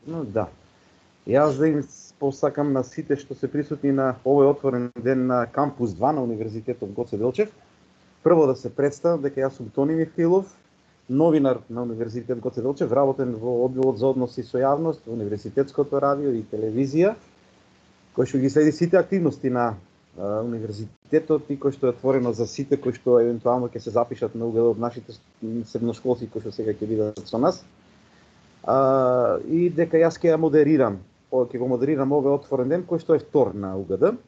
Да. Јас да им посакам на сите што се присутни на овој отворен ден на кампус 2 на Универзитетот Гоце Делчев. Прво да се представам дека јас сум Тони Михаилов, новинар на Универзитет Гоце Делчев, работен во одделот за односи со јавност, во Универзитетското радио и телевизија, кој што ги следи сите активности на универзитетот и кој што е отворено за сите кои што евентуално ќе се запишат на УГД од нашите средношколци кои што сега ќе бидат со нас. И дека јас ќе ја модерирам, ќе го модерирам овој отворен ден кој што е втор на УГД,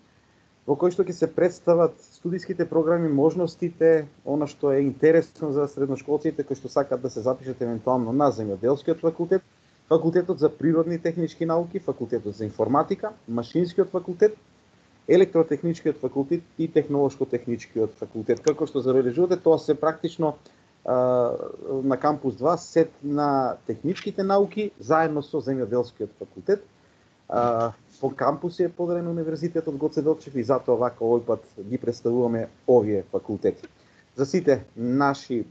во кој што ќе се представат студиските програми, можностите, она што е интересно за средношколците кои што сакаат да се запишат евентуално на земјоделскиот факултет, факултетот за природни и технички науки, факултетот за информатика, машинскиот факултет, електротехничкиот факултет и технолошко-техничкиот факултет. Како што забележувате, тоа се практично на кампус 2 сет на техничките науки заедно со земјоделскиот факултет. По кампуси е поделен Универзитетот Гоце Делчев и затоа вака овој пат ги представуваме овие факултети. За сите наши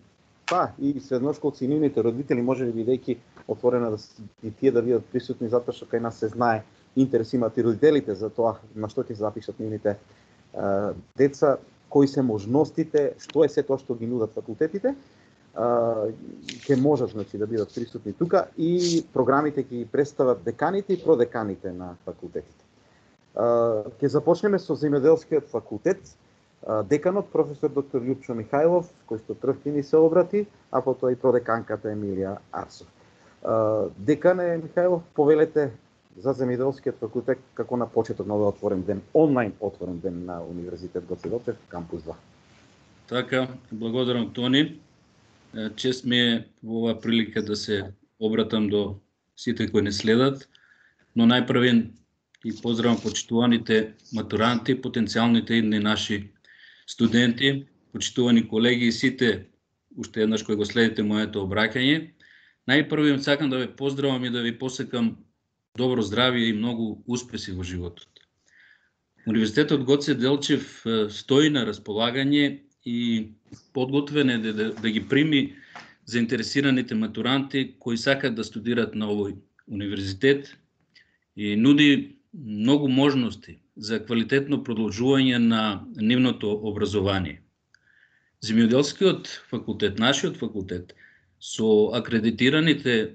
и средношколци и нивните родители, можеби бидејќи отворена и тие да бидат присутни, затоа што кај нас се знае интерес имаат и родителите за тоа на што ќе се запишат нивните деца, кои се можностите, што е се тоа што ги нудат факултетите, ќе можат да бидат присутни тука и програмите ќе ги представат деканите и продеканите на факултетите. Ќе започнеме со земјоделскиот факултет. Деканот професор доктор Љупчо Михајлов, кој што прв ќе ни се обрати, а потоа и продеканката Емилија Арсов. Декан е Михајлов, повелете за земјоделскиот факултет како на почеток на овој отворен ден, онлайн отворен ден на Универзитет Гоце Делчев, кампус 2. Така, благодарам Тони. Чест ми е во оваа прилика да се обратам до сите кои не следат, но најпрвен и поздравам почитуваните матуранти, потенцијалните идни наши студенти, почитувани колеги и сите уште еднаш кои го следите моето обраќање. Најпрвен сакам да ве поздравам и да ви посакам добро здравје и многу успеси во животот. Универзитетот Гоце Делчев стои на располагање и подготвен е да ги прими заинтересираните матуранти кои сакат да студираат на овој универзитет и нуди многу можности за квалитетно продолжување на нивното образование. Земјоделскиот факултет, нашиот факултет, со акредитираните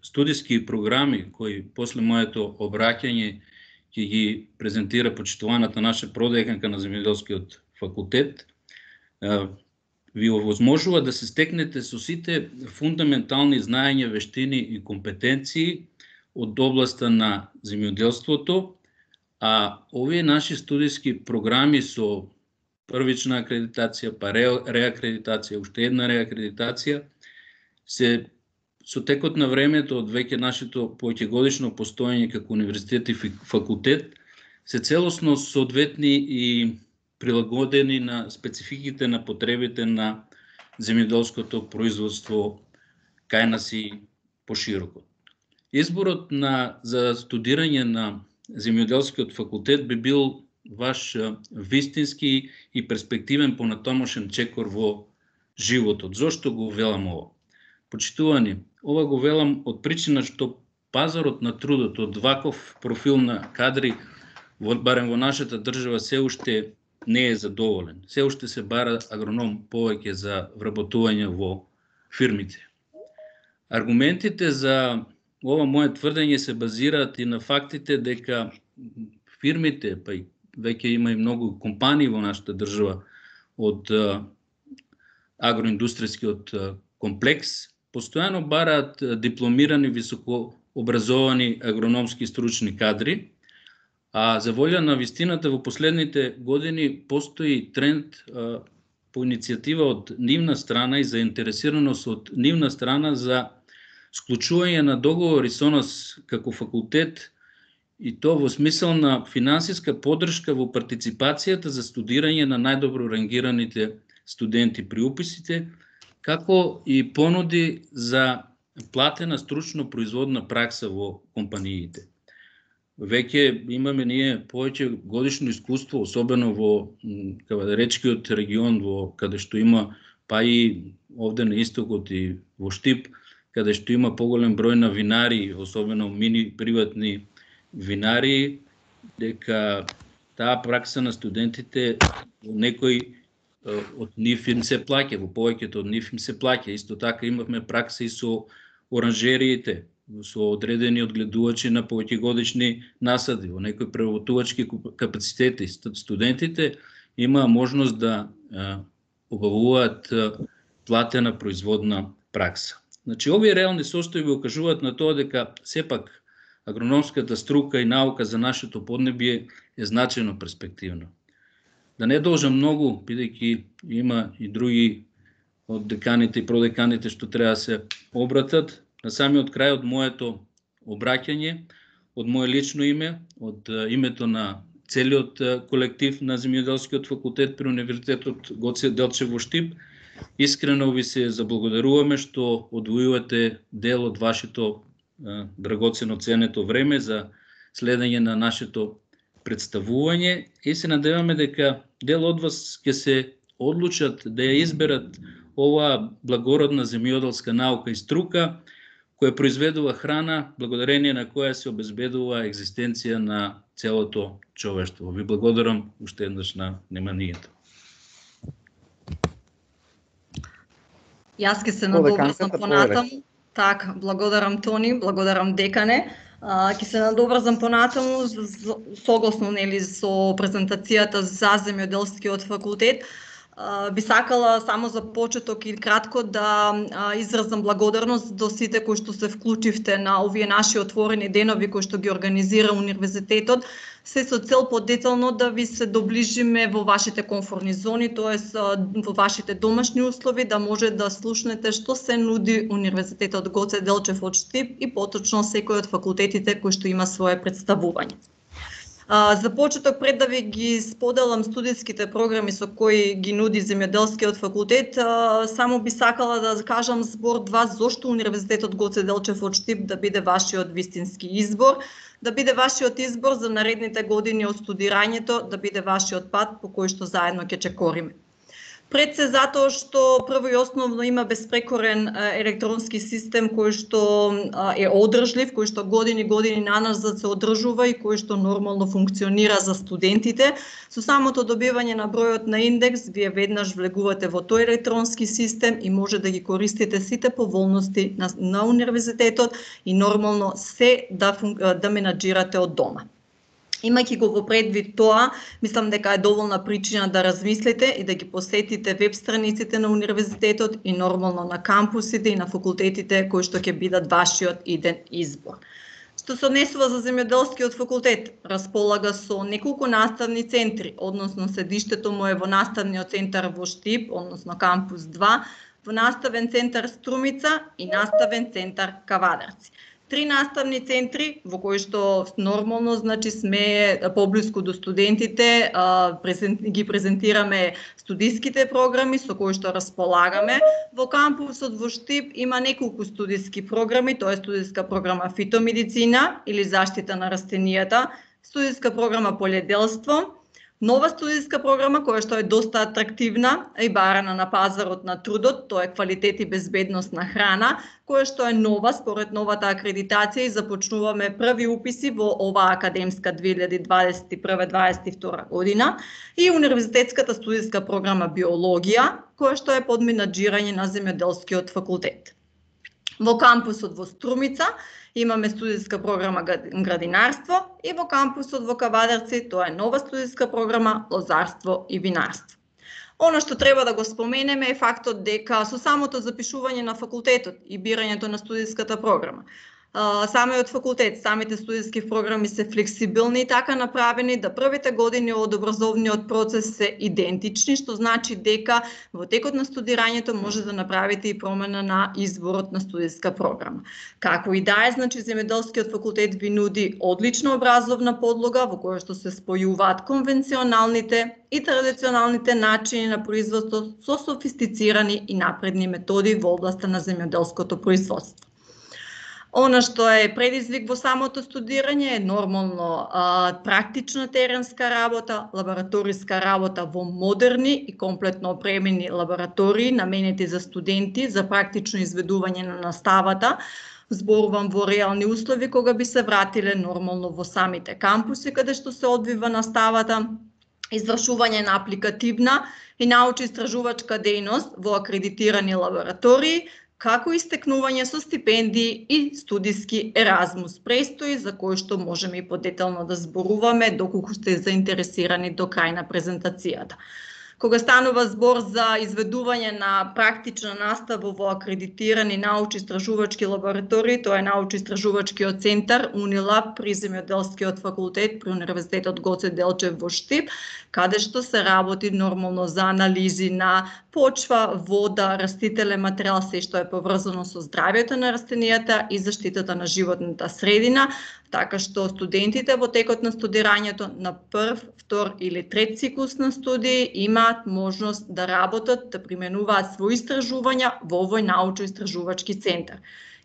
студиски програми кои после моето обраќање ќе ги презентира почитуваната наша продеканка на земјоделскиот факултет, ви овозможува да се стекнете со сите фундаментални знаења, вештини и компетенции од областа на земјоделството, а овие наши студиски програми со првична акредитација, па реакредитација, уште една реакредитација, се со текот на времето од веќе нашето поеќегодишно постоење како универзитет и факултет се целосно соодветни и прилагодени на спецификите на потребите на земјоделското производство кај нас и пошироко. Изборот за студирање на земјоделскиот факултет би бил ваш вистински и перспективен понатомошен чекор во животот. Зошто го велам ова? Почитувани, ова го велам од причина што пазарот на трудот од ваков профил на кадри, барем во нашата држава, се уште не е задоволен. Се уште се бара агроном повеќе за вработување во фирмите. Аргументите за ова моје тврдење се базираат и на фактите дека фирмите, па и веќе има и многу компании во нашата држава од агроиндустријскиот комплекс, постојано бараат дипломирани, високообразовани агрономски стручни кадри, а за волја на вистината во последните години постои тренд по иницијатива од нивна страна и заинтересираност од нивна страна за склучување на договори со нас како факултет и то во смисел на финансиска поддршка во партиципацијата за студирање на најдобро рангираните студенти при уписите, како и понуди за платена стручно производна пракса во компаниите. Веќе имаме ние повеќе годишно искуство, особено во Кавадаречкиот регион, каде што има па и овде на истокот и во Штип, каде што има поголем број на винари, особено мини приватни винари, дека таа пракса на студентите во некој од нив им се плаќа, во повеќето од нив им се плаќа. Исто така имавме пракса и со оранжериите, со одредени одгледувачи на повеќегодишни насади, во некои преработувачки капацитети. Студентите имаа можност да обавуваат платена производна пракса. Значи, овие реални состојби окажуваат на тоа дека сепак агрономската струка и наука за нашето поднебие е значајно перспективно. Да не должам многу, бидејќи има и други од деканите и продеканите што треба да се обратат. На самиот крај од моето обраќање, од мое лично име, од името на целиот колектив на Земјоделскиот факултет при Универзитетот Гоце Делчев во Штип, искрено ви се заблагодаруваме што одвојувате дел од вашето драгоцено ценето време за следење на нашето представување и се надеваме дека дел од вас ќе се одлучат да ја изберат оваа благородна земјоделска наука и струка која произведува храна, благодарение на која се обезбедува екзистенција на целото човештво. Ви благодарам уште еднаш на вниманието. Јас ќе се надобрзам понатаму. Так, благодарам Тони, благодарам декане. Ќе се надобрзам понатаму согласно нели со презентацијата за Земјоделскиот факултет. Би сакала само за почеток и кратко да изразам благодарност до сите кои што се вклучивте на овие наши отворени денови кои што ги организира универзитетот, се со цел подетално да ви се доближиме во вашите комфортни зони, тоест во вашите домашни услови, да може да слушнете што се нуди Универзитетот Гоце Делчев од Штип и поточно секој од факултетите кои што има свое представување. За почеток, пред да ви ги споделам студиските програми со кои ги нуди Земјоделскиот факултет, само би сакала да кажам збор-два зошто Универзитетот Гоце Делчев од Штип да биде вашиот вистински избор, да биде вашиот избор за наредните години од студирањето, да биде вашиот пат по кој што заедно ќе чекориме. Пред се затоа што прво и основно има безпрекорен електронски систем кој што е одржлив, кој што години наназад се одржува и кој што нормално функционира за студентите. Со самото добивање на бројот на индекс, вие веднаш влегувате во тој електронски систем и може да ги користите сите поволности на универзитетот и нормално се да менаџирате од дома. Имајќи го во предвид тоа, мислам дека е доволна причина да размислите и да ги посетите веб страниците на универзитетот и нормално на кампусите и на факултетите кои што ќе бидат вашиот иден избор. Што се однесува за Земјоделскиот факултет, располага со неколку наставни центри, односно седиштето му е во наставниот центар во Штип, односно кампус 2, во наставен центар Струмица и наставен центар Кавадарци. 3 наставни центри во кои што нормално значи сме поблиску до студентите, ги презентираме студиските програми со кои што располагаме. Во кампусот во Штип има неколку студиски програми, тоа е студиска програма фитомедицина или заштита на растенијата, студиска програма полједелство, нова студиска програма која што е доста атрактивна и барана на пазарот на трудот, тоа е квалитет и безбедност на храна, која што е нова според новата акредитација и започнуваме први уписи во оваа академска 2021-2022 година и универзитетската студиска програма биологија, која што е под менаџирање на Земјоделскиот факултет. Во кампусот во Струмица имаме студиска програма градинарство и во кампусот во Кавадарци тоа е нова студиска програма лозарство и винарство. Она што треба да го споменеме е фактот дека со самото запишување на факултетот и бирањето на студиската програма, самиот факултет, самите студиски програми се флексибилни и така направени да првите години од образовниот процес се идентични, што значи дека во текот на студирањето може да направите и промена на изборот на студиска програма. Како и да е, значи Земјоделскиот факултет ви нуди одлична образовна подлога во која што се спојуваат конвенционалните и традиционалните начини на производство со софистицирани и напредни методи во областа на земјоделското производство. Она што е предизвик во самото студирање е нормално практична теренска работа, лабораториска работа во модерни и комплетно опремени лаборатории наменети за студенти за практично изведување на наставата. Зборувам во реални услови кога би се вратиле нормално во самите кампуси каде што се одвива наставата, извршување на апликативна и научно-истражувачка дејност во акредитирани лаборатории, како и стекнување со стипендии и студиски Еразмус престои, за кој што можеме и подетално да зборуваме доколку сте заинтересирани до крај на презентацијата. Кога станува збор за изведување на практична настава во акредитирани научно-истражувачки лаборатории, тоа е научно-истражувачкиот центар Унилаб при Земјоделскиот факултет при Универзитетот Гоце Делчев во Штип, каде што се работи нормално за анализи на почва, вода, растителен материјал, се што е поврзано со здравјето на растенијата и заштитата на животната средина, така што студентите во текот на студирањето на прв, втор или трет циклус на студии имаат можност да работат, да применуваат своји истражувања во овој научно-истражувачки центар.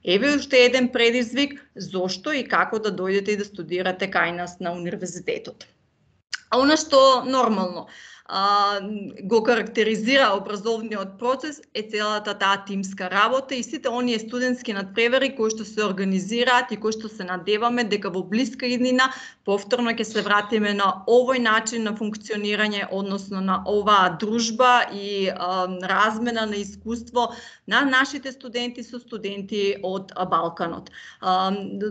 Еве уште еден предизвик зошто и како да дојдете и да студирате кај нас на универзитетот. А она што нормално го карактеризира образовниот процес е целата таа тимска работа и сите оние студентски надпревари кои што се организираат и кои што се надеваме дека во блиска иднина повторно ќе се вратиме на овој начин на функционирање, односно на оваа дружба и размена на искуство на нашите студенти со студенти од Балканот.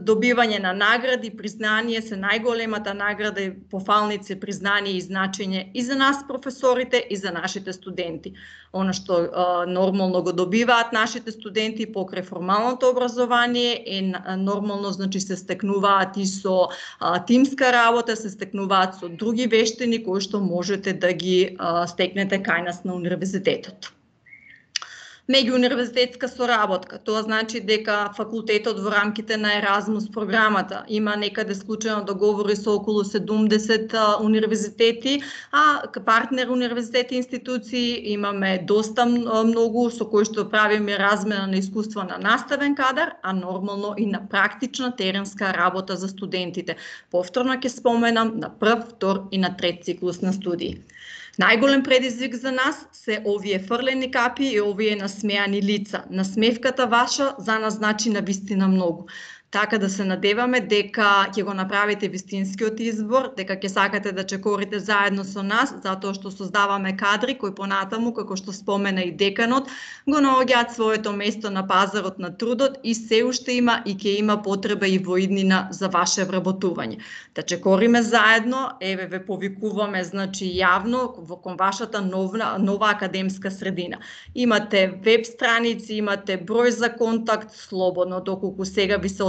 Добивање на награди, признание се најголемата награда и пофалници, признание и значење и за нас професорите и за нашите студенти. Она што нормално го добиваат нашите студенти покрај формалното образование е нормално, значи се стекнуваат и со тимска работа, се стекнуваат со други вештини кои што можете да ги стекнете кај нас на универзитетот. Меѓууниверзитетска соработка. Тоа значи дека факултетот во рамките на Еразмус програмата има некаде склучено договори со околу 70 универзитети, а партнер универзитети и институции имаме доста многу со кои што правиме размена на искуства на наставен кадар, а нормално и на практична теренска работа за студентите. Повторно ќе споменам на прв, втор и на трет циклус на студии. Најголем предизвик за нас се овие фрлени капи и овие насмеани лица. Насмевката ваша за нас значи навистина многу. Така да се надеваме дека ќе го направите вистинскиот избор, дека ќе сакате да чекорите заедно со нас, затоа што создаваме кадри кои понатаму, како што спомена и деканот, го наоѓаат своето место на пазарот на трудот и се уште има и ќе има потреба и во иднина за ваше вработување. Да чекориме заедно, еве ве повикуваме, значи јавно кон вашата нова академска средина. Имате веб страници, имате број за контакт, слободно доколку сега ви се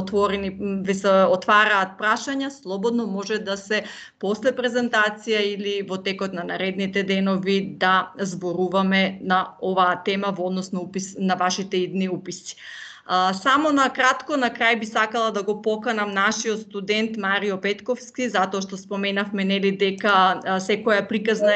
отвараат прашања, слободно може да се после презентација или во текот на наредните денови да зборуваме на оваа тема во однос на вашите идни уписи. Само на кратко, на крај би сакала да го поканам нашиот студент Марио Петковски, затоа што споменавме нели дека секоја приказна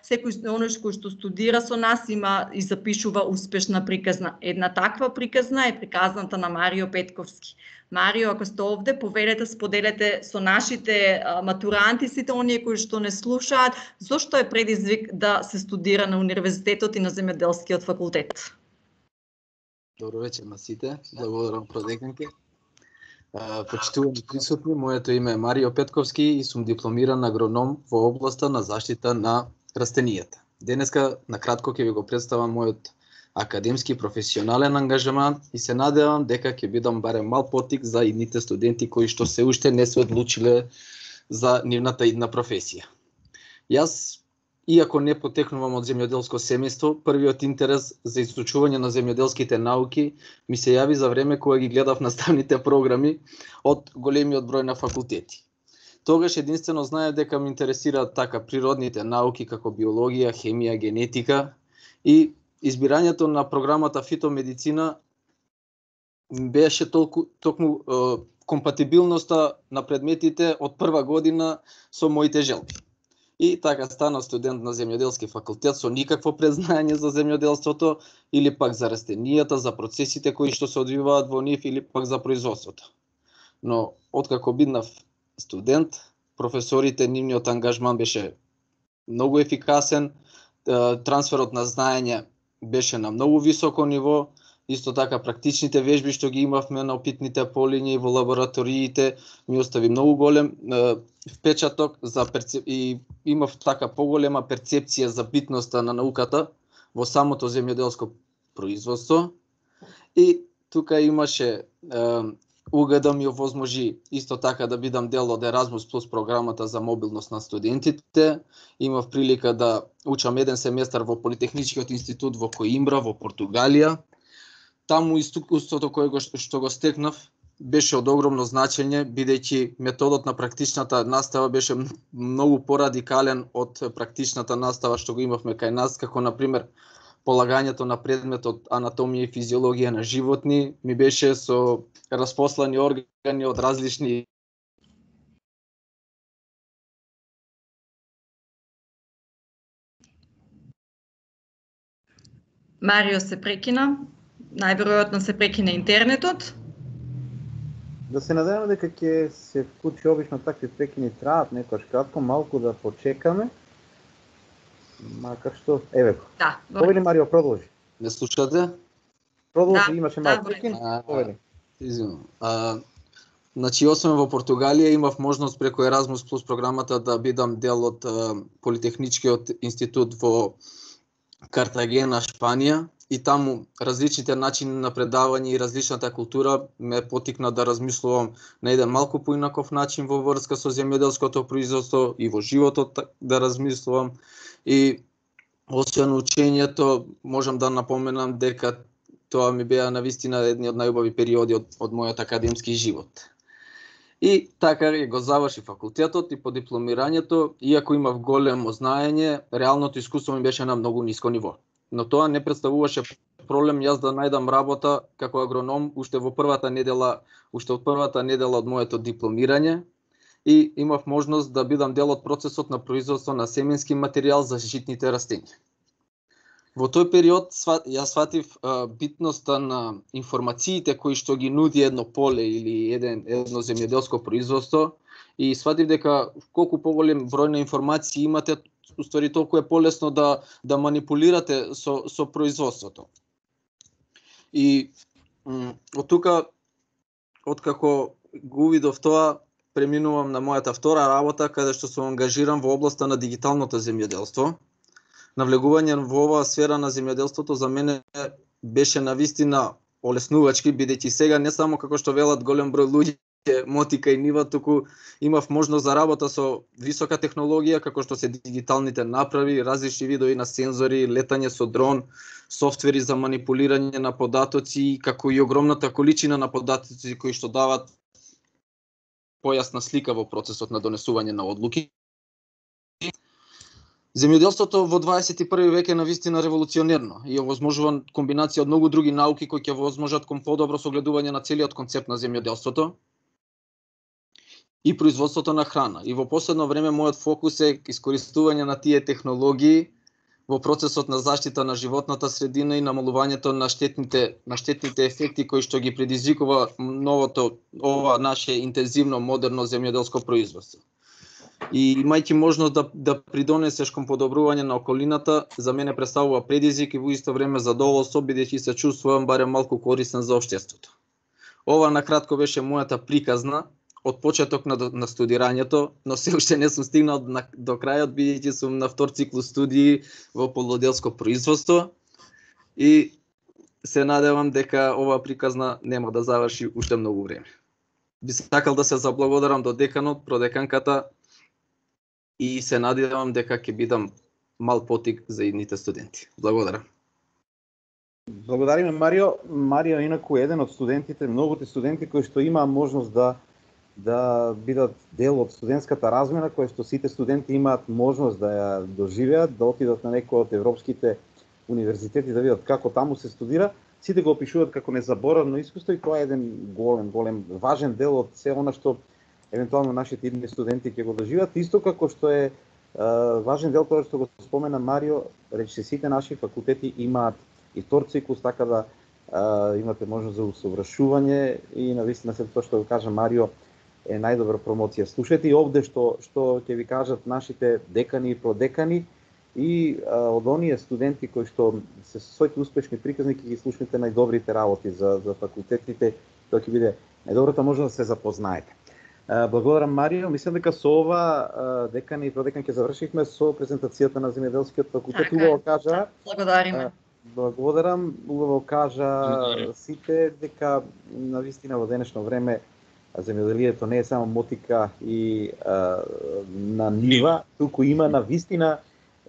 секој оној кој што студира со нас има и запишува успешна приказна. Една таква приказна е приказната на Марио Петковски. Марио, ако сте овде, повелете, споделете со нашите матуранти, сите оние кои што не слушаат, зошто е предизвик да се студира на универзитетот и на Земјоделскиот факултет. Добро вечер на сите, благодарам продеканке. Почитувани присутни, моето име е Марио Петковски и сум дипломиран агроном во областа на заштита на растенијата. Денеска накратко ќе ви го представам мојот академски професионален ангажман и се надевам дека ќе бидам барем мал потик за идните студенти кои што се уште не се одлучиле за нивната идна професија. Јас, иако не потекнувам од земјоделско семејство, првиот интерес за изучување на земјоделските науки ми се јави за време кога ги гледав наставните програми од големиот број на факултети. Тогаш единствено знаев дека ме интересираат така природните науки како биологија, хемија, генетика и избирањето на програмата фитомедицина беше токму компатибилноста на предметите од прва година со моите желби. И така станав студент на земјоделски факултет со никакво презнање за земјоделството или пак за растенијата, за процесите кои што се одвиваат во нив или пак за производството. Но откако биднав студент, професорите, нивниот ангажман беше многу ефикасен, трансферот на знаење беше на многу високо ниво, исто така практичните вежби што ги имавме на опитните полиња и во лабораториите ми остави многу голем впечаток и имав така поголема перцепција за битноста на науката во самото земјоделско производство. И тука имаше УГД ми овозможи исто така да бидам дел од Еразмус плюс програмата за мобилност на студентите. Имав прилика да учам еден семестар во Политехничкиот институт во Коимбра во Португалија. Таму искуството што го стекнав беше од огромно значење, бидејќи методот на практичната настава беше многу порадикален од практичната настава што го имавме кај нас, како на пример полагањето на предметот анатомија и физиологија на животни ми беше со распослани органи од различни Марио се прекина. Најверојатно се прекина интернетот. Да се надеваме дека ќе се вклучи, обично такви прекини траат некојаш кратко, малку да почекаме. Макар што, еве. Да, Повели Марио, продолжи. Не слушате? Продолжи, Да, имаше да, малку прекин. Повели. Извинувам. Значи, освен во Португалија, имав можност преку Еразмус плюс програмата да бидам дел од Политехничкиот институт во Картагена, Шпанија. И таму различните начини на предавање и различната култура ме потикна да размислувам на еден малку поинаков начин во врска со земјоделското производство и во животот да размислувам. И освен учењето, можам да напоменам дека тоа ми беа навистина едни од најубави периоди од мојот академски живот. И така го заврши факултетот и по дипломирањето, иако имав големо знаење, реалното искуство ми беше на многу ниско ниво. Но тоа не представуваше проблем јас да најдам работа како агроном уште од првата недела од моето дипломирање и имав можност да бидам дел од процесот на производство на семенски материјал за житните растенија. Во тој период јас сватив битноста на информациите кои што ги нуди едно поле или едно земјоделско производство и сватив дека колку поголем број на информации имате, уствари толку е полесно да манипулирате со производството. И од тука, откако го увидов тоа, преминувам на мојата втора работа, каде што сум ангажиран во областа на дигиталното земјоделство. Навлегување во оваа сфера на земјоделството за мене беше навистина олеснувачки, бидејќи сега не само како што велат голем број луѓе мотика и нива, туку имав можност за работа со висока технологија, како што се дигиталните направи, различни видови на сензори, летање со дрон, софтвери за манипулирање на податоци, како и огромната количина на податоци кои што дават појасна слика во процесот на донесување на одлуки. Земјоделството во 21 век е навистина револуционерно и овозможува комбинација од многу други науки кои ќе возможат кон подобро согледување на целиот концепт на земјоделството и производството на храна. И во последно време мојот фокус е искористување на тие технологии во процесот на заштита на животната средина и намалувањето на штетните ефекти кои што ги предизвикува ова наше интензивно модерно земјоделско производство. И имајќи можност да придонесеш кон подобрување на околината, за мене представува предизвик и во исто време задоволство, бидејќи се чувствувам барем малку корисен за општеството. Ова накратко беше мојата приказна од почеток на студирањето, но се уште не сум стигнал до крајот, бидејќи сум на втор циклус студии во полуделско производство и се надевам дека оваа приказна нема да заврши уште многу време. Би сакал да се заблагодарам до деканот, продеканката и се надевам дека ќе бидам мал потик за идните студенти. Благодарам. Благодариме, Марио. Марио инаку еден од студентите, многуте студенти кои што имаа можност да бидат дел од студентската размена, која што сите студенти имаат можност да ја доживеат, да отидат на некој од европските универзитети да видат како таму се студира. Сите го опишуваат како незаборавно искуство и тоа е еден голем важен дел од се она што евентуално нашите идни студенти ќе го доживеат, исто како што е важен дел тоа што го спомена Марио, рече сите наши факултети имаат и втор циклус, така да имате можност за усовршување и навистина се тоа што го кажа Марио е најдобра промоција. Слушате и овде што ќе ви кажат нашите декани и продекани и од оние студенти кои што се своите успешни приказни ќе ги слушнете најдобрите работи за факултетите, тоа ќе биде најдобрата можност да се запознаете. Благодарам Марио, мислам дека со ова декани и продекан ќе завршивме со презентацијата на земјоделскиот факултет. Убаво кажа. Благодариме. Благодарам, убаво кажа сите дека навистина во денешно време земјоделието не е само мотика и на нива, туку има навистина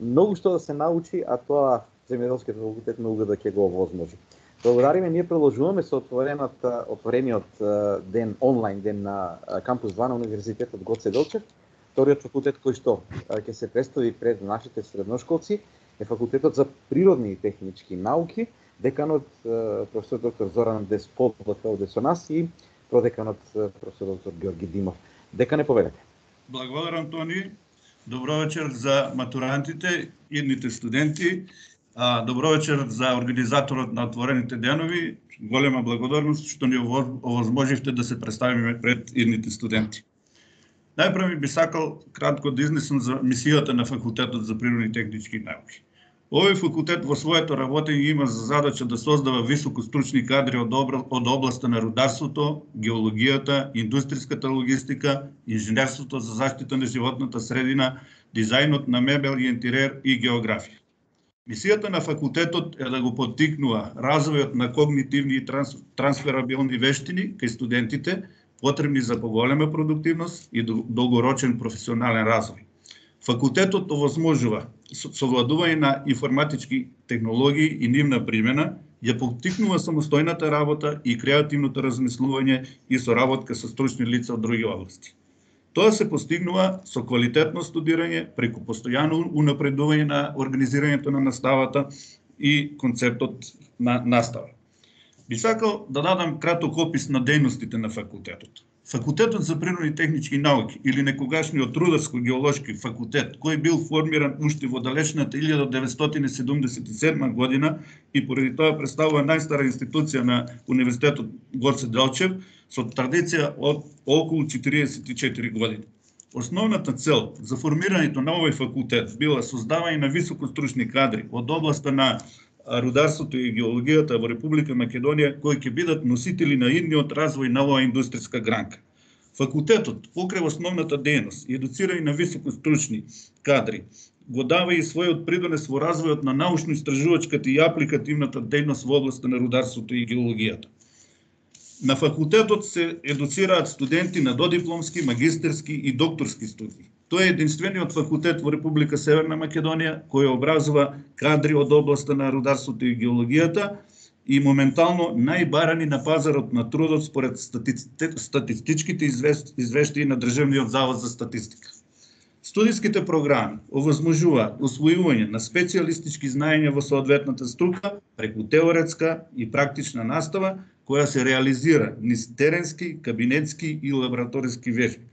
многу што да се научи, а тоа земјоделскиот факултет на УГД ќе го овозможи. Благодариме, ние продолжуваме со отворениот ден, онлайн ден на кампус 2 на Универзитетот Гоце Делчев. Вториот факултет кој што ќе се представи пред нашите средношколци е факултетот за природни и технички науки. Деканот професор доктор Зоран Десподов овде со нас и продеканот професор доктор Георги Димов. Декане, повелете. Благодарам, Тони. Добро вечер за матурантите, идните студенти. Добро вечер за организаторот на отворените денови. Голема благодарност што ни овозможивте да се представиме пред идните студенти. Најпрво би сакал кратко да изнесам за мисијата на факултетот за природни и технички науки. Овој факултет во своето работење има за задача да создава високостручни кадри од областа на рударството, геологијата, индустријската логистика, инженерството за заштита на животната средина, дизајнот на мебел и интериер и географија. Мисијата на факултетот е да го поттикнува развојот на когнитивни и трансферабилни вештини кај студентите, потребни за поголема продуктивност и долгорочен професионален развој. Факултетот овозможува совладување на информатички технологии и нивна примена, ја поттикнува самостојната работа и креативното размислување и соработка со стручни лица од други области. Тоа се постигнува со квалитетно студирање преку постојано унапредување на организирањето на наставата и концептот на настава. Би сакал да дадам краток опис на дејностите на факултетот. Факултетот за природни и технички науки или некогашниот Рударско-геолошки факултет, кој бил формиран уште во далечната 1977 година и поради тоа представува најстара институција на Универзитетот Гоце Делчев со традиција од околу 44 години. Основната цел за формирањето на овој факултет била создавање на високостручни кадри од областа на рударството и геологијата во Република Македонија, кои ќе бидат носители на идниот развој на оваа индустријска гранка. Факултетот, покрај основната дејност и едуцирање на високостручни кадри, го дава и својот придонес во развојот на научно-истражувачката и апликативната дејност во областа на рударството и геологијата. На факултетот се едуцираат студенти на додипломски, магистерски и докторски студии. Тој е единствениот факултет во Република Северна Македонија кој образува кадри од областа на рударството и геологијата и моментално најбарани на пазарот на трудот според статистичките извештаи на Државниот завод за статистика. Студиските програми овозможуваат усвојување на специјалистички знаења во соодветната струка преку теоретска и практична настава која се реализира низ теренски, кабинетски и лабораториски вежби.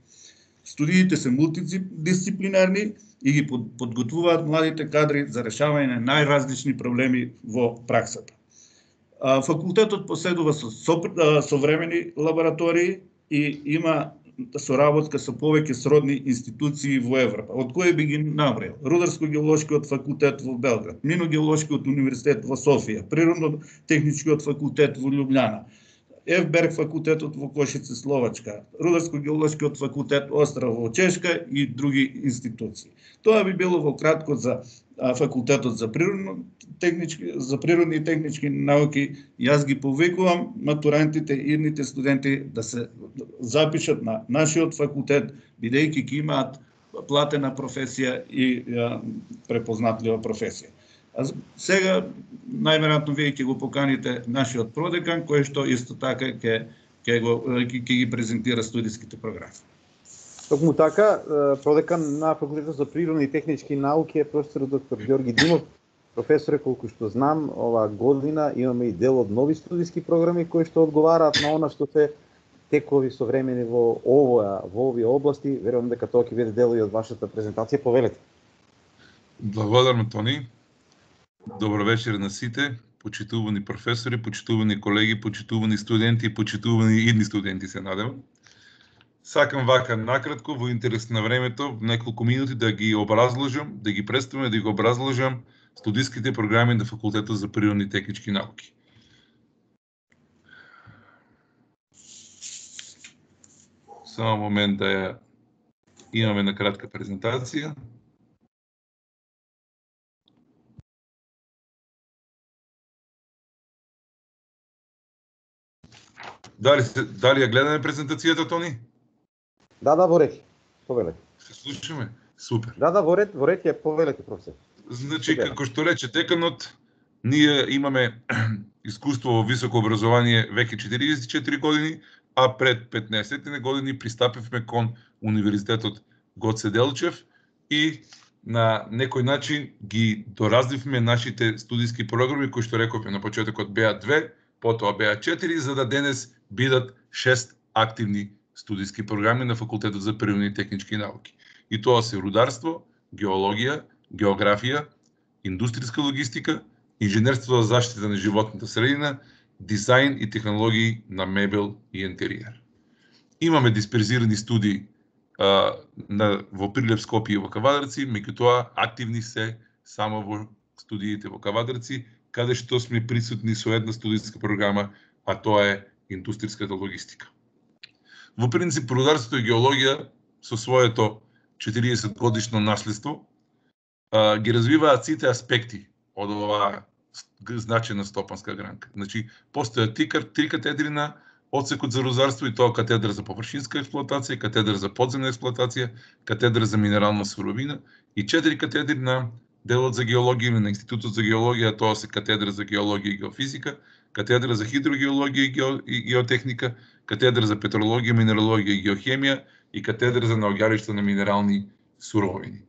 Студиите се мултидисциплинарни и ги подготвуваат младите кадри за решавање на најразлични проблеми во праксата. Факултетот поседува современи лаборатории и има соработка со повеќе сродни институции во Европа, од кои би ги наброил: Рударско-геолошкиот факултет во Белград, Мино-геолошкиот универзитет во Софија, Природно-техничкиот факултет во Љубљана, ФБерг факултетот во Кошице, Словачка, Рударско-геолошкиот факултет Острав во Чешка и други институции. Тоа би било во кратко за факултетот за природни и технички науки. Јас ги повикувам матурантите и идните студенти да се запишат на нашиот факултет, бидејќи ќе имаат платена професија и препознатлива професија. Сега, најверојатно, вие ќе го поканите нашиот продекан, кој што исто така ќе ги презентира студиските програми. Токму така, продекан на Факултетот за природни и технички науки е професор доктор Георги Димов. Професоре, колку што знам, оваа година имаме и дел од нови студиски програми кои што одговараат на она што се текови современи во овие области. Верувам дека тоа ќе биде дел и од вашата презентација. Повелете. Благодарам, Тони. Добро вечер на сите, почитувани професори, почитувани колеги, почитувани студенти, почитувани идни студенти, се надевам. Сакам вака накратко, во интерес на времето, неколку минути да ги образложам, да ги представам, да ги образложам студиските програми на Факултетот за природни и технички науки. Само момент да ја имаме на кратка презентација. Дали ја гледаме презентацијата, Тони? Да, во ред. Повелете. Се слушаме? Супер. Да, во ред ја повелете, професор. Значи, како што рече деканот, ние имаме искуство во високо образование веќе 44 години, а пред 15 години пристапивме кон Универзитетот Гоце Делчев и на некој начин ги доразвивме нашите студиски програми, кои што рековме на почетокот беа 2, потоа беа 4, за да денес бидат 6 активни студиски програми на Факултетот за природни и технички науки. И тоа се рударство, геологија, географија, индустријска логистика, инженерство за заштита на животната средина, дизајн и технологии на мебел и интериер. Имаме дисперзирани студии во Прилеп, Скопје и во Кавадарци, меѓутоа активни се само во студиите во Кавадарци, каде што сме присутни со една студиска програма, а тоа е индустријската логистика. Во принцип, рударството и геологија со своето 40 годишно наследство ги развиваат сите аспекти од оваа значајна стопанска гранка. Значи, постојат три катедри на одсекот за рударство, и тоа катедра за површинска експлоатација, катедра за подземна експлоатација, катедра за минерална суровина и 4 катедри на делот за геологија или на Институтот за геологија, тоа се катедра за геологија и геофизика, катедра за хидрогеологија и геотехника, катедра за петрологија, минералогија и геохемија и катедра за наоѓалишта на минерални суровини.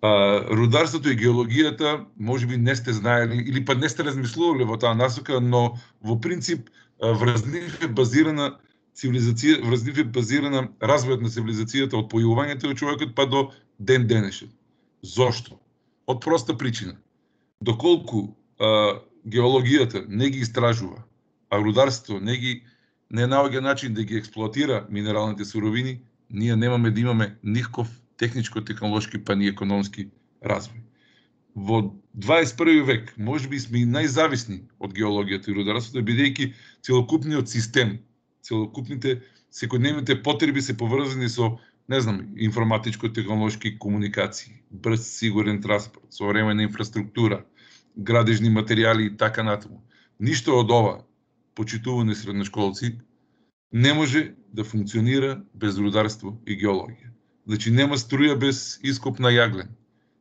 Рударството и геологијата можеби не сте знаели или па не сте размислували во таа насока, но во принцип врз нив е базирана цивилизација, врз нив е базирана развојот на цивилизацијата од појавувањето на човекот па до ден денешен. Зошто? Од проста причина. Доколку геологијата не ги истражува, а рударството не наоѓа начин да ги експлоатира минералните суровини, ние немаме да имаме никаков техничко-технолошки па ни економски развој. Во 21 век можеби сме и најзависни од геологијата и рударството, бидејќи целокупниот систем, целокупните секојдневните потреби се поврзани со, не знам, информатичко-технолошки комуникации, брз, сигурен транспорт, современа инфраструктура, градежни материјали и така натаму. Ништо од ова, почитувани средношколци, не може да функционира без рударство и геологија. Значи, нема струја без ископ на јаглен,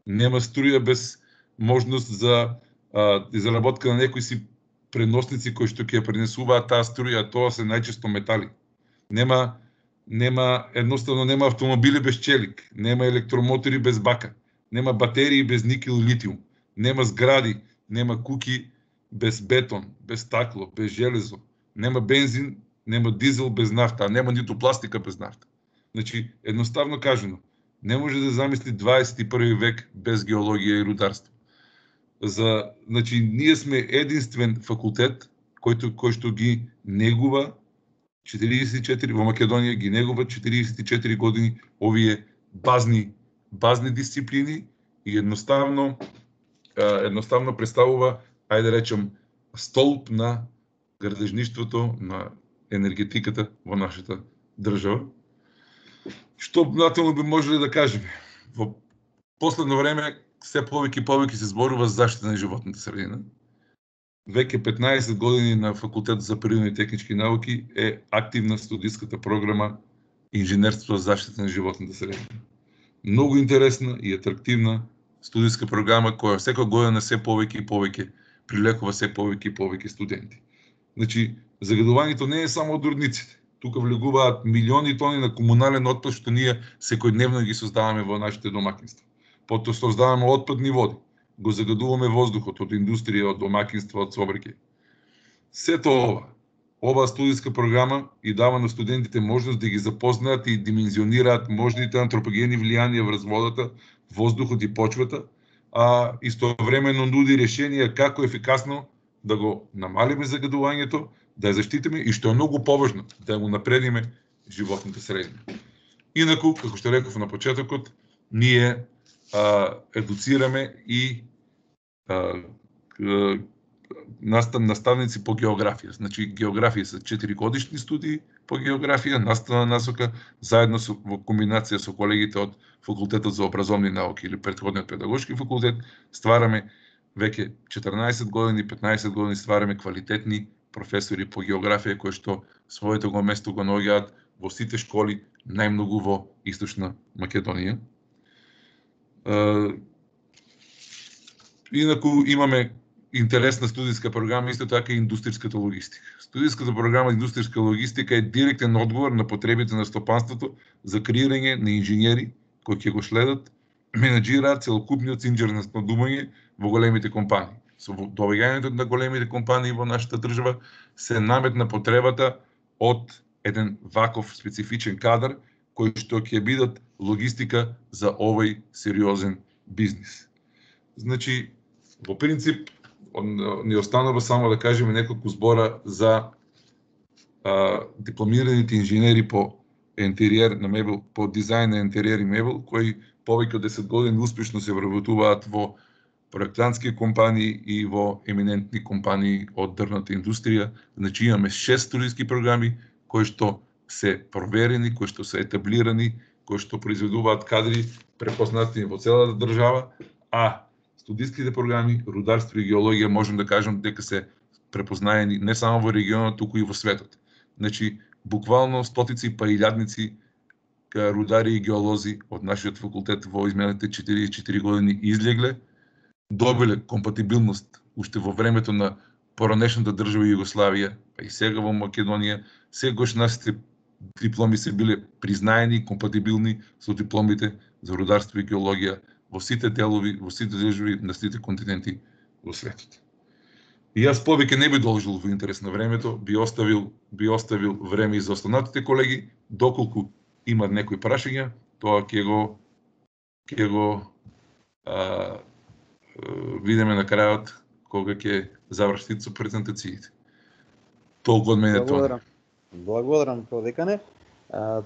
нема струја без можност за изработка на некои си преносници кои што ќе ја пренесуваат таа струја, тоа се најчесто метали. Едноставно нема автомобили без челик, нема електромотори без бака, нема батерии без никел и литиум, нема згради, нема куќи без бетон, без стакло, без железо, нема бензин, нема дизел без нафта, а нема ниту пластика без нафта. Значи, едноставно кажано, не може да замисли 21 век без геологија и рударство. Значи, ние сме единствен факултет кој што ги негува 44 во Македонија, ги негува 44 години овие базни дисциплини и едноставно представува, ајде да речем, столб на градежништвото, на енергетиката во нашата држава. Што натаму би можеле да кажеме? Во последно време се повеќе се зборува за заштита на животната средина. Веќе 15 години на Факултетот за природни и технички науки е активна студиската програма Инженерство за заштита на животната средина. Многу интересна и атрактивна студиска програма која секоја година се повеќе и повеќе прилекува се повеќе и повеќе студенти. Значи, загадувањето не е само од рудниците. Тука влегуваат милиони тони на комунален отпад што ние секојдневно ги создаваме во нашите домакинства. Потоа создаваме отпадни води, го загадуваме воздухот од индустрија, од домакинства, од сообраќај. Сето оваа студиска програма и дава на студентите можност да ги запознаат и димензионираат можните антропогени влијанија врз водата, воздухот и почвата, а истовремено нуди решенија како ефикасно да го намалиме загадувањето, да ја заштитиме и што е многу поважно, да го напредиме животните средини. Инаку, како што реков на почетокот, ние едуцираме и наставници по географија. Значи, географија се 4-годишни студии по географија, наставна насока, заедно во комбинација со колегите од Факултетот за образовни науки или претходниот педагошки факултет, ствараме веќе 14 години, 15 години ствараме квалитетни професори по географија кои што своето го место го наоѓаат во сите школи, најмногу во Источна Македонија. Инаку имаме интересна студиска програма, исто така и индустријската логистика. Студиската програма индустријска логистика е директен одговор на потребите на стопанството за креирање на инженери кои ќе го следат, менаџираат целокупниот цинџер на снабдување во големите компании. Со доаѓањето на големите компании во нашата држава се наметна потребата од еден ваков специфичен кадар кој што ќе бидат логистика за овој сериозен бизнис. Значи, во принцип, ни останува само да кажеме неколку збора за дипломираните инженери по интериер на мебел, по дизајн на интериер и мебел, кои повеќе од 10 години успешно се вработуваат во проектантски компании и во еминентни компании од дрвната индустрија. Значи, имаме 6 студиски програми кои што се проверени, кои што се етаблирани, кои што произведуваат кадри препознати во целата држава, а студиските програми рударство и геологија можем да кажем дека се препознаени не само во регионот, туку и во светот. Значи, буквално стотици па илјадници рудари и геолози од нашиот факултет во изминалите 44 години излегле, добиле компатибилност уште во времето на поранешната држава Југославија, па и сега во Македонија, сегаш нашите дипломи се биле признаени и компатибилни со дипломите за рударство и геологија во сите делови, во сите држави на сите континенти во светот. И јас повеќе не би должил во интерес на времето, би оставил време и за останатите колеги, доколку имат некои прашања, тоа ќе го видиме на крајот кога ќе завршите со презентациите. Толку од мене тоа. Благодарам, продекане.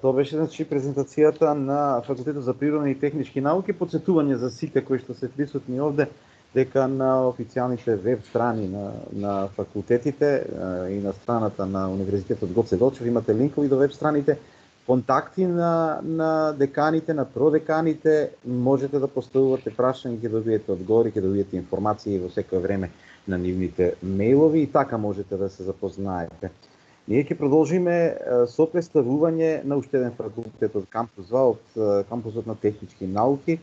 Тоа беше значи презентацијата на Факултетот за природни и технички науки. Подсетување за сите кои што се присутни овде дека на официјалните веб страни на факултетите и на страната на Универзитетот Гоце Делчев имате линкови до веб страните, контакти на деканите, на продеканите, можете да поставувате прашања, ќе добиете одговори, ќе добиете информации во секое време на нивните мејлови и така можете да се запознаете. Ние ќе продолжиме со представување на уште еден факултет од кампус 2, од кампусот на технички науки.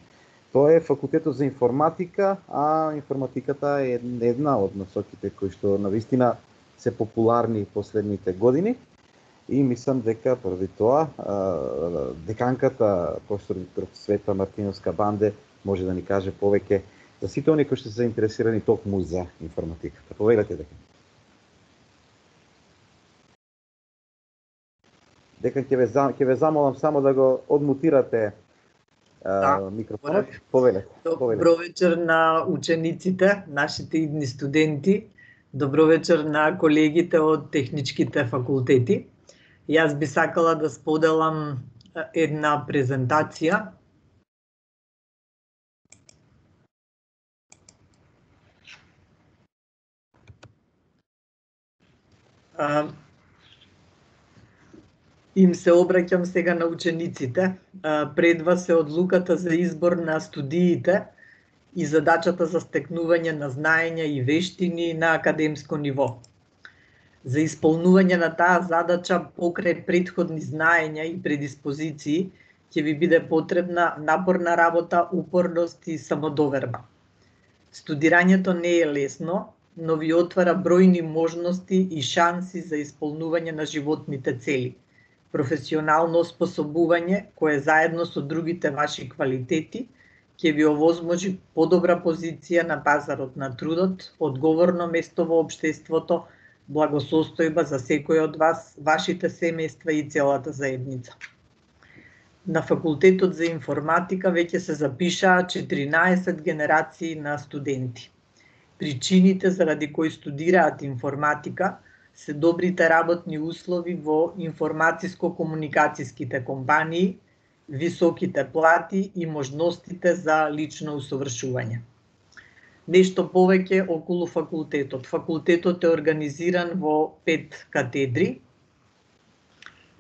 Тоа е факултетот за информатика, а информатиката е една од насоките кои што навистина се популарни последните години. И мислам дека поради тоа деканката професор Света Мартиновска-Банде може да ни каже повеќе за сите оние кои што се заинтересирани токму за информатиката. Повелете дека. Декан ќе ве замолам само да го одмутирате микрофонот. Повелете. Добро вечер на учениците, нашите идни студенти. Добро вечер на колегите од техничките факултети. Јас би сакала да споделам една презентација. Им се обраќам сега на учениците. Пред вас е одлуката за избор на студиите и задачата за стекнување на знаења и вештини на академско ниво. За исполнување на таа задача покрај претходни знаења и предиспозиции ќе ви биде потребна напорна работа, упорност и самодоверба. Студирањето не е лесно, но ви отвара бројни можности и шанси за исполнување на животните цели. Професионално оспособување, кое заедно со другите ваши квалитети, ќе ви овозможи подобра позиција на пазарот на трудот, одговорно место во општеството, благосостојба за секој од вас, вашите семејства и целата заедница. на факултетот за информатика веќе се запишаа 14 генерации на студенти. Причините заради кои студираат информатика се добрите работни услови во информатиско-комуникацијските компании, високите плати и можностите за лично усовршување. Нешто повеќе околу факултетот. Факултетот е организиран во 5 катедри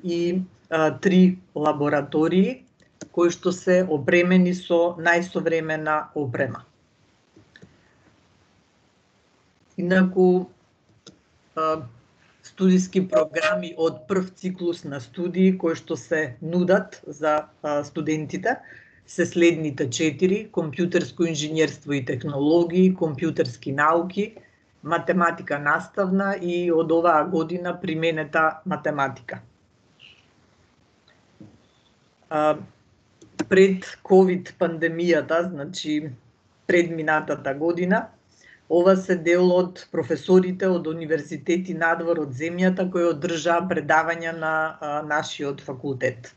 и 3 лаборатории, кои што се опремени со најсовремена опрема. Инаку, студиски програми од прв циклус на студии кои што се нудат за студентите се следните 4: компјутерско инженерство и технологии, компјутерски науки, математика наставна и од оваа година применета математика. Пред ковид пандемијата, значи предминатата година, ова се дел од професорите од универзитети надвор од земјата кои одржаа предавања на нашиот факултет.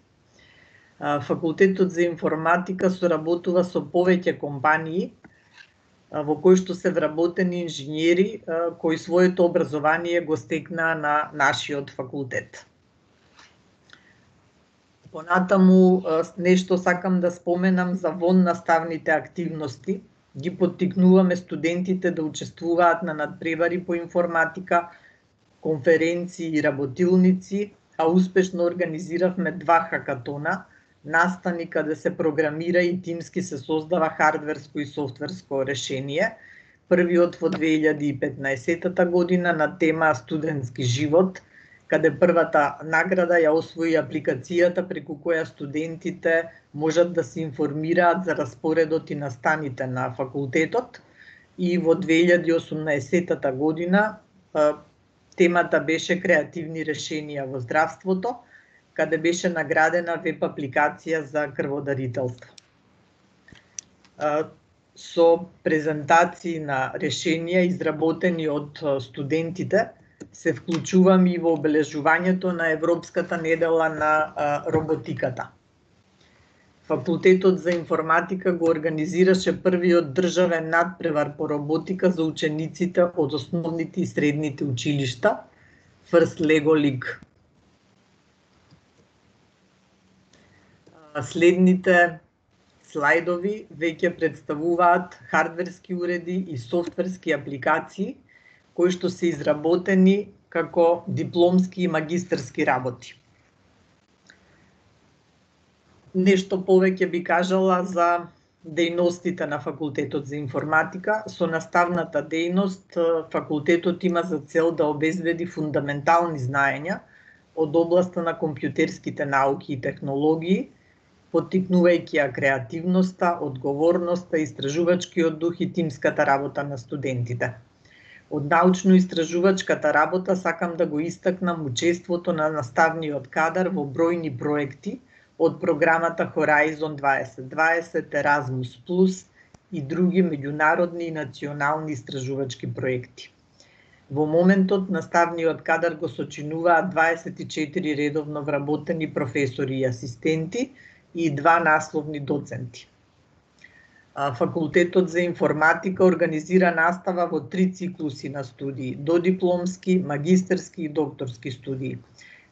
Факултетот за информатика соработува со повеќе компании во кои што се вработени инженери кои своето образование го стекнаа на нашиот факултет. Понатаму нешто сакам да споменам за воннаставните активности. Ги поттикнуваме студентите да учествуваат на надпревари по информатика, конференции и работилници, а успешно организиравме 2 хакатона, настани каде се програмира и тимски се создава хардверско и софтверско решение. Првиот во 2015 година на тема студентски живот, каде првата награда ја освои апликацијата преку која студентите можат да се информираат за распоредот и настаните на факултетот. И во 2018 година темата беше креативни решенија во здравството, каде беше наградена веб апликација за крводарителство. Со презентации на решенија изработени од студентите, се вклучувам и во обележувањето на Европската недела на роботиката. Факултетот за информатика го организираше првиот државен надпревар по роботика за учениците од основните и средните училишта, First Lego League. Следните слайдови веќе представуваат хардверски уреди и софтверски апликации кои што се изработени како дипломски и магистерски работи. Нешто повеќе би кажала за дејностите на Факултетот за информатика. Со наставната дејност, факултетот има за цел да обезбеди фундаментални знаења од областа на компјутерските науки и технологии, поттикнувајќи ја креативноста, одговорноста, истражувачкиот дух и тимската работа на студентите. Од научно-истражувачката работа сакам да го истакнам учеството на наставниот кадар во бројни проекти од програмата Horizon 2020, Erasmus+, и други меѓународни и национални истражувачки проекти. Во моментот наставниот кадар го сочинуваат 24 редовно вработени професори и асистенти и 2 насловни доценти. Факултетот за информатика организира настава во 3 циклуси на студии: додипломски, магистерски и докторски студии.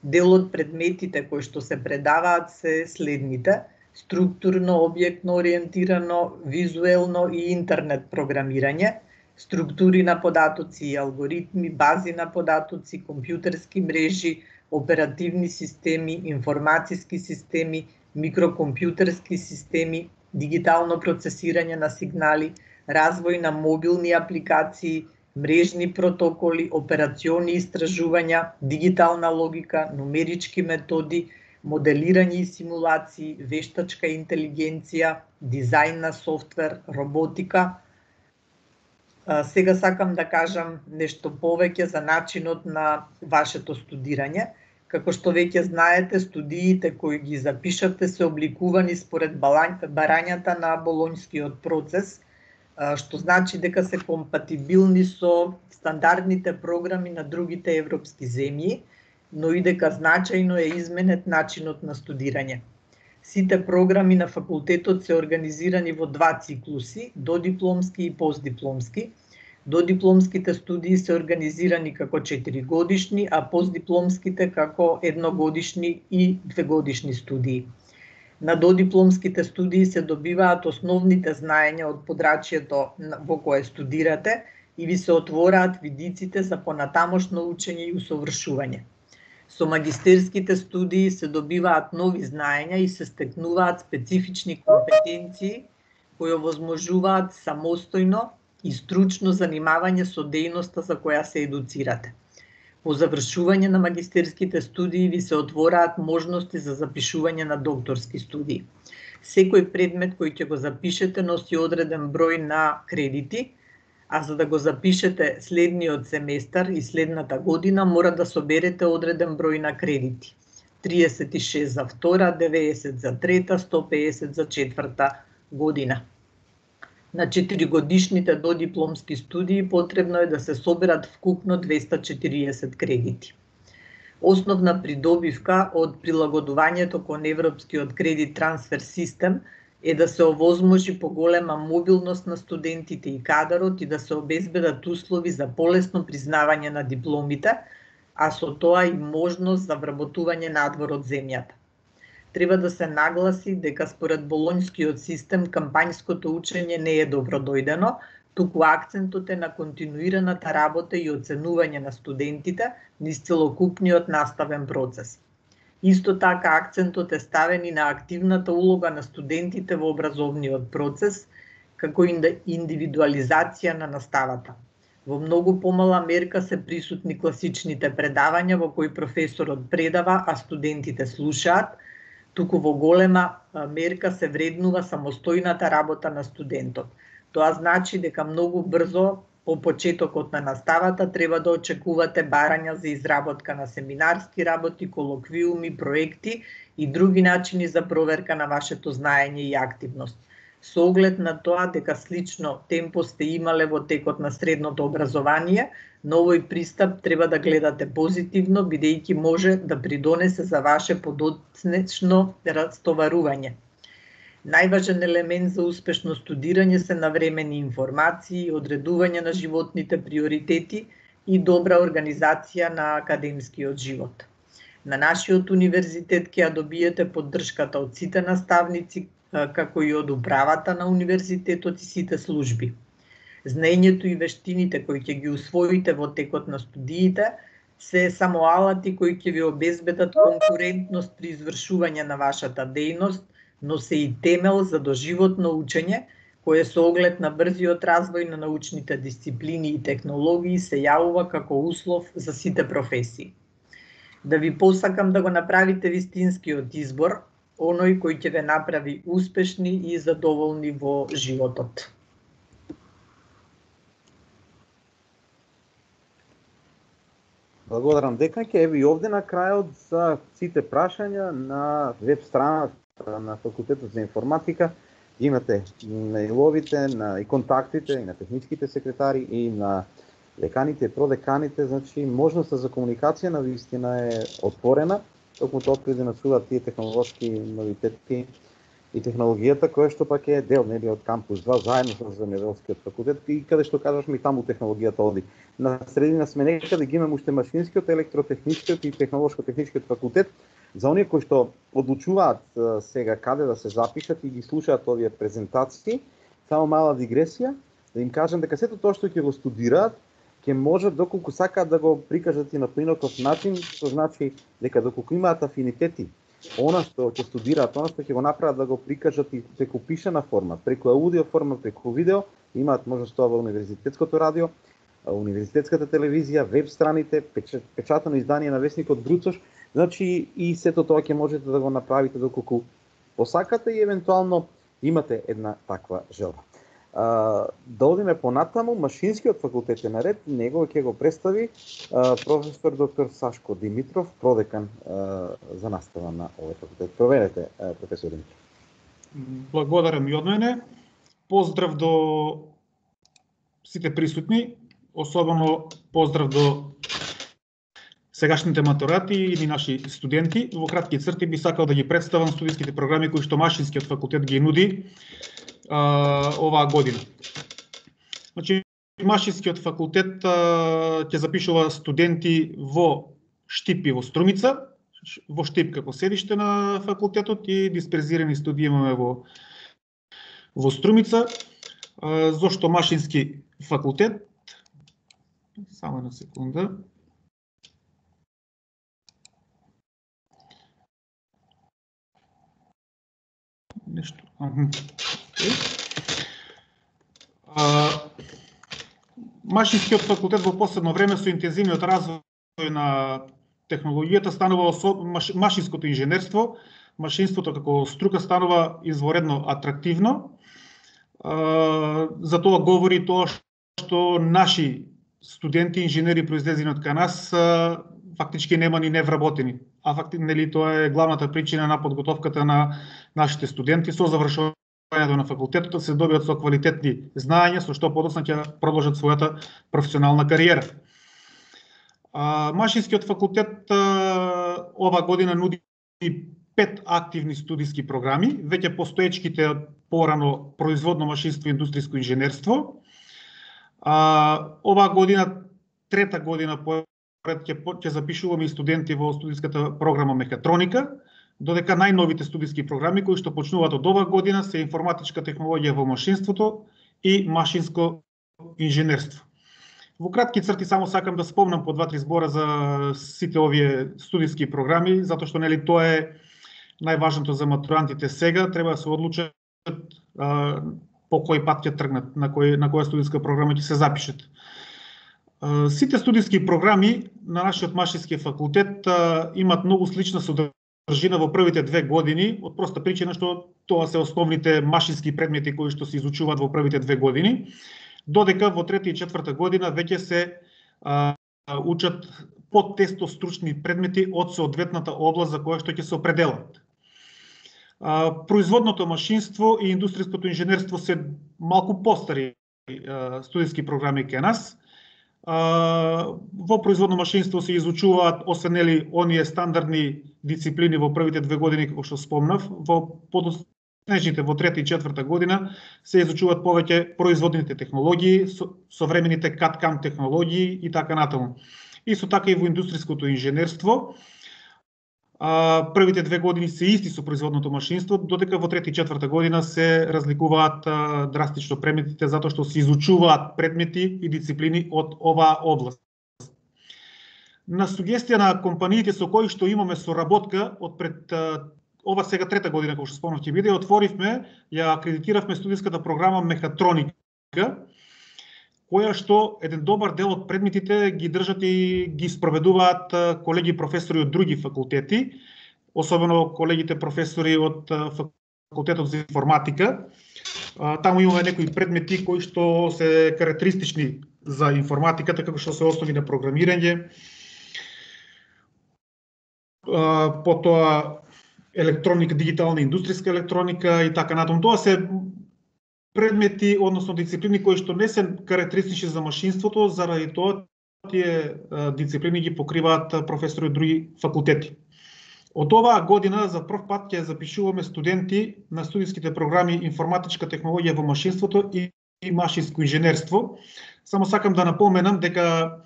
Дел од предметите кои што се предаваат се следните: структурно, објектно ориентирано, визуелно и интернет програмирање, структури на податоци и алгоритми, бази на податоци, компјутерски мрежи, оперативни системи, информациски системи, микрокомпјутерски системи, дигитално процесирање на сигнали, развој на мобилни апликации, мрежни протоколи, операциони истражувања, дигитална логика, нумерички методи, моделирање и симулации, вештачка интелигенција, дизајн на софтвер, роботика. Сега сакам да кажам нешто повеќе за начинот на вашето студирање. Како што веќе знаете, студиите кои ги запишате се обликувани според барањата на болонјскиот процес, што значи дека се компатибилни со стандардните програми на другите европски земји, но и дека значајно е изменет начинот на студирање. Сите програми на факултетот се организирани во два циклуси, додипломски и постдипломски. Додипломските студии се организирани како 4-годишни, а постдипломските како 1-годишни и 2-годишни студии. На додипломските студии се добиваат основните знаења од подрачјето во кое студирате и ви се отвораат видиците за понатамошно учење и усовршување. Со магистерските студии се добиваат нови знаења и се стекнуваат специфични компетенции кои овозможуваат самостојно и стручно занимавање со дејноста за која се едуцирате. По завршување на магистерските студии ви се отвораат можности за запишување на докторски студии. Секој предмет кој ќе го запишете носи одреден број на кредити, а за да го запишете следниот семестар и следната година мора да соберете одреден број на кредити. 36 за втора, 90 за трета, 150 за четврта година. На 4-годишните додипломски студии потребно е да се соберат вкупно 240 кредити. Основна придобивка од прилагодувањето кон Европскиот кредит трансфер систем е да се овозможи поголема мобилност на студентите и кадарот и да се обезбедат услови за полесно признавање на дипломите, а со тоа и можност за вработување надвор од земјата. Треба да се нагласи дека според болонјскиот систем кампањското учење не е добродојдено, туку акцентот е на континуираната работа и оценување на студентите низ целокупниот наставен процес. Исто така акцентот е ставен и на активната улога на студентите во образовниот процес, како индивидуализација на наставата. Во многу помала мерка се присутни класичните предавања во кои професорот предава, а студентите слушаат, туку во голема мерка се вреднува самостојната работа на студентот. Тоа значи дека многу брзо по почетокот на наставата треба да очекувате барања за изработка на семинарски работи, колоквиуми, проекти и други начини за проверка на вашето знаење и активност. Со оглед на тоа дека слично темпо сте имале во текот на средното образование, на овој пристап треба да гледате позитивно, бидејќи може да придонесе за ваше подоцнечно растоварување. Најважен елемент за успешно студирање се навремени информации, одредување на животните приоритети и добра организација на академскиот живот. На нашиот универзитет ќе ја добиете поддршката од сите наставници, како и од управата на универзитетот и сите служби. Знаењето и вештините кои ќе ги усвоите во текот на студиите се само алати кои ќе ви обезбедат конкурентност при извршување на вашата дејност, но се и темел за доживотно учење, кое со оглед на брзиот развој на научните дисциплини и технологии се јавува како услов за сите професии. Да ви посакам да го направите вистинскиот избор, оној кој ќе ве направи успешни и задоволни во животот. Благодарам деканке. Еви овде на крајот за сите прашања на веб страната на Факултетот за информатика. Имате мејловите, и контактите и на техничките секретари и на деканите и продеканите, значи можноста за комуникација на вистина е отворена, токму тоа откри да насуват тие технолошки новитети и технологијата, која што пак е дел од кампус 2 заедно со земјоделскиот факултет и каде што кажаш ми таму технологијата оди. На средина сме некаде ги имаме уште машинскиот, електротехничкиот и технолошко-техничкиот факултет. За оние кои што одлучуваат сега каде да се запишат и ги слушаат овие презентации, само мала дигресија, да им кажам дека сето тоа што ќе го студираат, ќе можат доколку сакаат да го прикажат и на поинаков начин, што значи дека доколку имаат афинитети, она што ќе студираат, она што ќе го направат да го прикажат и преку пишана форма, преку аудио форма, преку видео, имаат можност тоа во универзитетското радио, универзитетската телевизија, веб страните, печатано издание на весникот Бруцош, значи и сето тоа ќе можете да го направите доколку посакате и евентуално имате една таква желба. Да одиме понатаму, машинскиот факултет е наред, него ќе го представи професор доктор Сашко Димитров, продекан за настава на овој факултет. Проверете, професор Димитров. Благодарам и од мене. Поздрав до сите присутни, особено поздрав до сегашните матуранти или наши студенти. Во кратки црти би сакал да ги представам студиските програми кои што Машинскиот факултет ги нуди оваа година. Значи, Машинскиот факултет ќе запишува студенти во Штип и во Струмица, во Штип како седиште на факултетот и дисперзирани студии имаме во Струмица. Зошто Машински факултет? Само една секунда. Нешто. Машинскиот факултет во последно време со интензивниот развој на технологијата станува машинското инженерство, машинството како струка станува изворедно атрактивно. За тоа говори тоа што наши студенти, инженери произлезени од кај нас фактички нема ни невработени. А нели тоа е главната причина на подготовката на нашите студенти со завршувањето на факултетот се добијат со квалитетни знаења со што подоцна ќе продолжат својата професионална кариера. Машинскиот факултет ова година нуди 5 активни студиски програми, веќе постоечките порано производно машинство и индустријско инженерство. Оваа година, трета година поред ќе запишуваме и студенти во студиската програма мехатроника, додека најновите студиски програми кои што почнуваат од оваа година се информатичка технологија во машинството и машинско инженерство. Во кратки црти само сакам да спомнам по 2-3 збора за сите овие студиски програми, затоа што нели тоа е најважното за матурантите сега, треба да се одлучат по кој пат ќе тргнат, на која студиска програма ќе се запишат. Сите студиски програми на нашиот Машински факултет имат многу слична содржина во првите 2 години, од проста причина што тоа се основните машински предмети кои што се изучуваат во првите 2 години, додека во трета и четврта година веќе се учат подтесто стручни предмети од соодветната област за која што ќе се определат. Производното машинство и индустријското инженерство се малку постари студиски програми кај нас. Во производно машинство се изучуваат освен нели оние стандардни дисциплини во првите 2 години како што спомнав, во подоцнежните во трета и четврта година се изучуваат повеќе производните технологии, современите CAD/CAM технологии и така натаму. Исто така и во индустријското инженерство. Првите 2 години се исти со производното машинство, додека во трета и четврта година се разликуваат драстично предметите затоа што се изучуваат предмети и дисциплини од оваа област. На сугестија на компаниите со кои што имаме соработка од пред ова сега трета година, како што спомнав ќе биде, отворивме, ја акредитиравме студиската програма мехатроника, која што еден добар дел од предметите ги држат и ги спроведуваат колеги професори од други факултети, особено колегите професори од факултетот за информатика. Таму имаме некои предмети кои што се карактеристични за информатиката, како што се основи на програмирање, потоа електроника, дигитална индустријска електроника и така натаму. Тоа се предмети, односно дисциплини кои што не се карактеристични за машинството, заради тоа тие дисциплини ги покриваат професори од други факултети. Од оваа година за прв пат ќе запишуваме студенти на студиските програми информатичка технологија во машинството и машинско инженерство. Само сакам да напоменам дека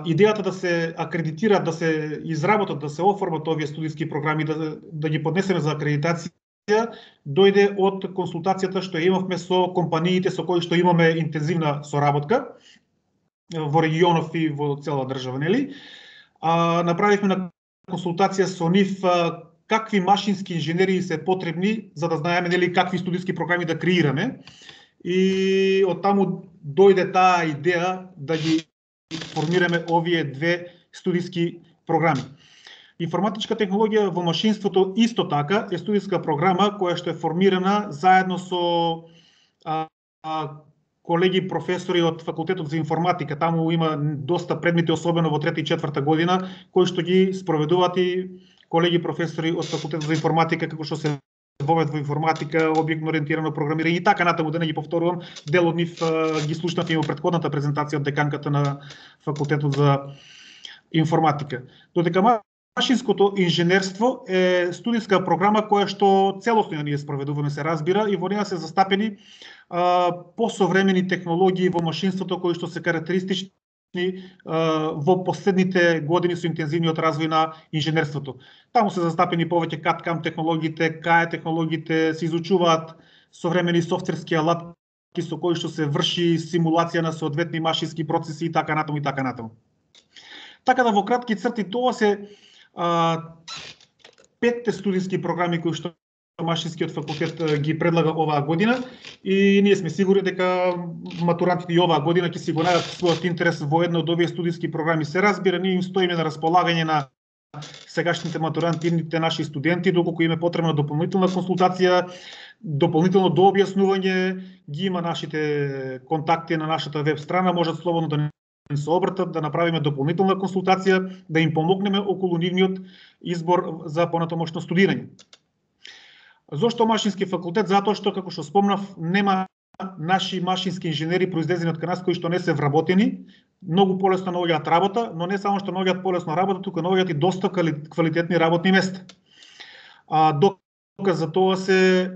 идејата да се акредитираат, да се изработат, да се оформат овие студиски програми, да ги поднесеме за акредитација, дојде од консултацијата што имавме со компаниите со кои што имаме интензивна соработка во регионов и во цела држава, нели? Направивме на консултација со нив какви машински инженери се потребни за да знаеме нели какви студиски програми да креираме. И од таму дојде таа идеја да ги формираме овие 2 студиски програми. Информатичка технологија во машинството исто така е студиска програма која што е формирана заедно со колеги професори од факултетот за информатика. Таму има доста предмети, особено во трета и четврта година, кои што ги спроведуваат и колеги професори од факултетот за информатика, како што се вовед во информатика, објектно ориентирано програмирање и така натаму, да не ги повторувам, дел од нив ги слушнав и во претходната презентација од деканката на факултетот за информатика. Додека машинското инженерство е студиска програма која што целосно ние спроведуваме, се разбира, и во неја се застапени посовремени технологии во машинството кои што се карактеристични во последните години со интензивниот развој на инженерството. Таму се застапени повеќе CAD/CAM технологиите, CAE технологиите, се изучуваат современи софтверски алатки со кои што се врши симулација на соодветни машински процеси и така натаму и така натаму. Така да во кратки црти тоа се 5 студиски програми кои што Машинскиот факултет ги предлага оваа година и ние сме сигурни дека матурантите и оваа година ќе си го најдат својот интерес во една од овие студиски програми. Се разбира, ние им стоиме на располагање на сегашните матуранти, идните наши студенти, доколку им е потребна дополнителна консултација, дополнително дообјаснување, ги има нашите контакти на нашата веб страна, можат слободно да се обратат, да направиме дополнителна консултација, да им помогнеме околу нивниот избор за понатамошно студирање. Зошто Машински факултет? Затоа што, како што спомнав, нема наши машински инженери произлезени од кај нас кои што не се вработени, многу полесно наоѓаат работа, но не само што наоѓаат полесно работа, туку наоѓаат и доста квалитетни работни места. Доказ за тоа се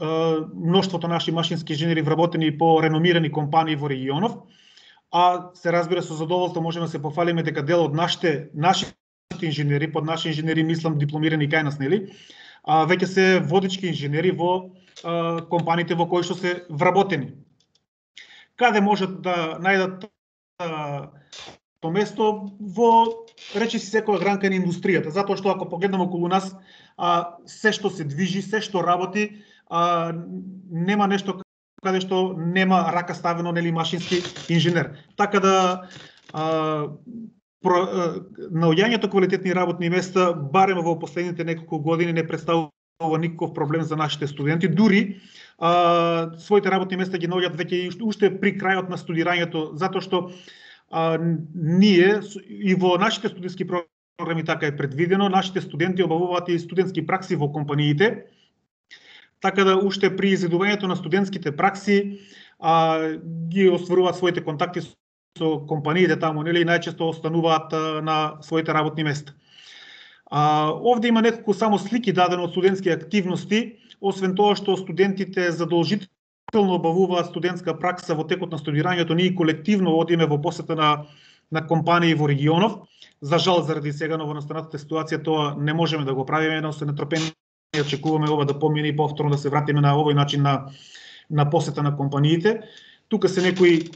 мноштвото наши машински инженери вработени по реномирани компании во регионов, а се разбира со задоволство можеме да се пофалиме дека дел од нашите инженери, под наши инженери мислам дипломирани кај нас, нели? Веќе се водички инженери во компаниите во кои што се вработени. Каде можат да најдат то место? Во речиси секоја гранка на индустријата, затоа што ако погледнеме околу нас, се што се движи, се што работи, нема нешто каде што нема рака ставено, нели, машински инженер. Така да наоѓањето квалитетни работни места барем во последните неколку години не представува никаков проблем за нашите студенти, дури своите работни места ги наоѓаат веќе уште при крајот на студирањето, затоа што ние и во нашите студентски програми така е предвидено, нашите студенти обавуваат и студентски пракси во компаниите, така да уште при изедувањето на студентските пракси ги остваруваат своите контакти со компаниите таму, нели, најчесто остануваат на своите работни места. Овде има неколку само слики дадено од студентски активности, освен тоа што студентите задолжително обавуваат студентска пракса во текот на студирањето, ние колективно одиме во посета на компании во регионов. За жал, заради сега новонастанатата ситуација тоа не можеме да го правиме, но се нетрпени очекуваме ова да помине и повторно да се вратиме на овој начин на посета на компаниите. Тука се некои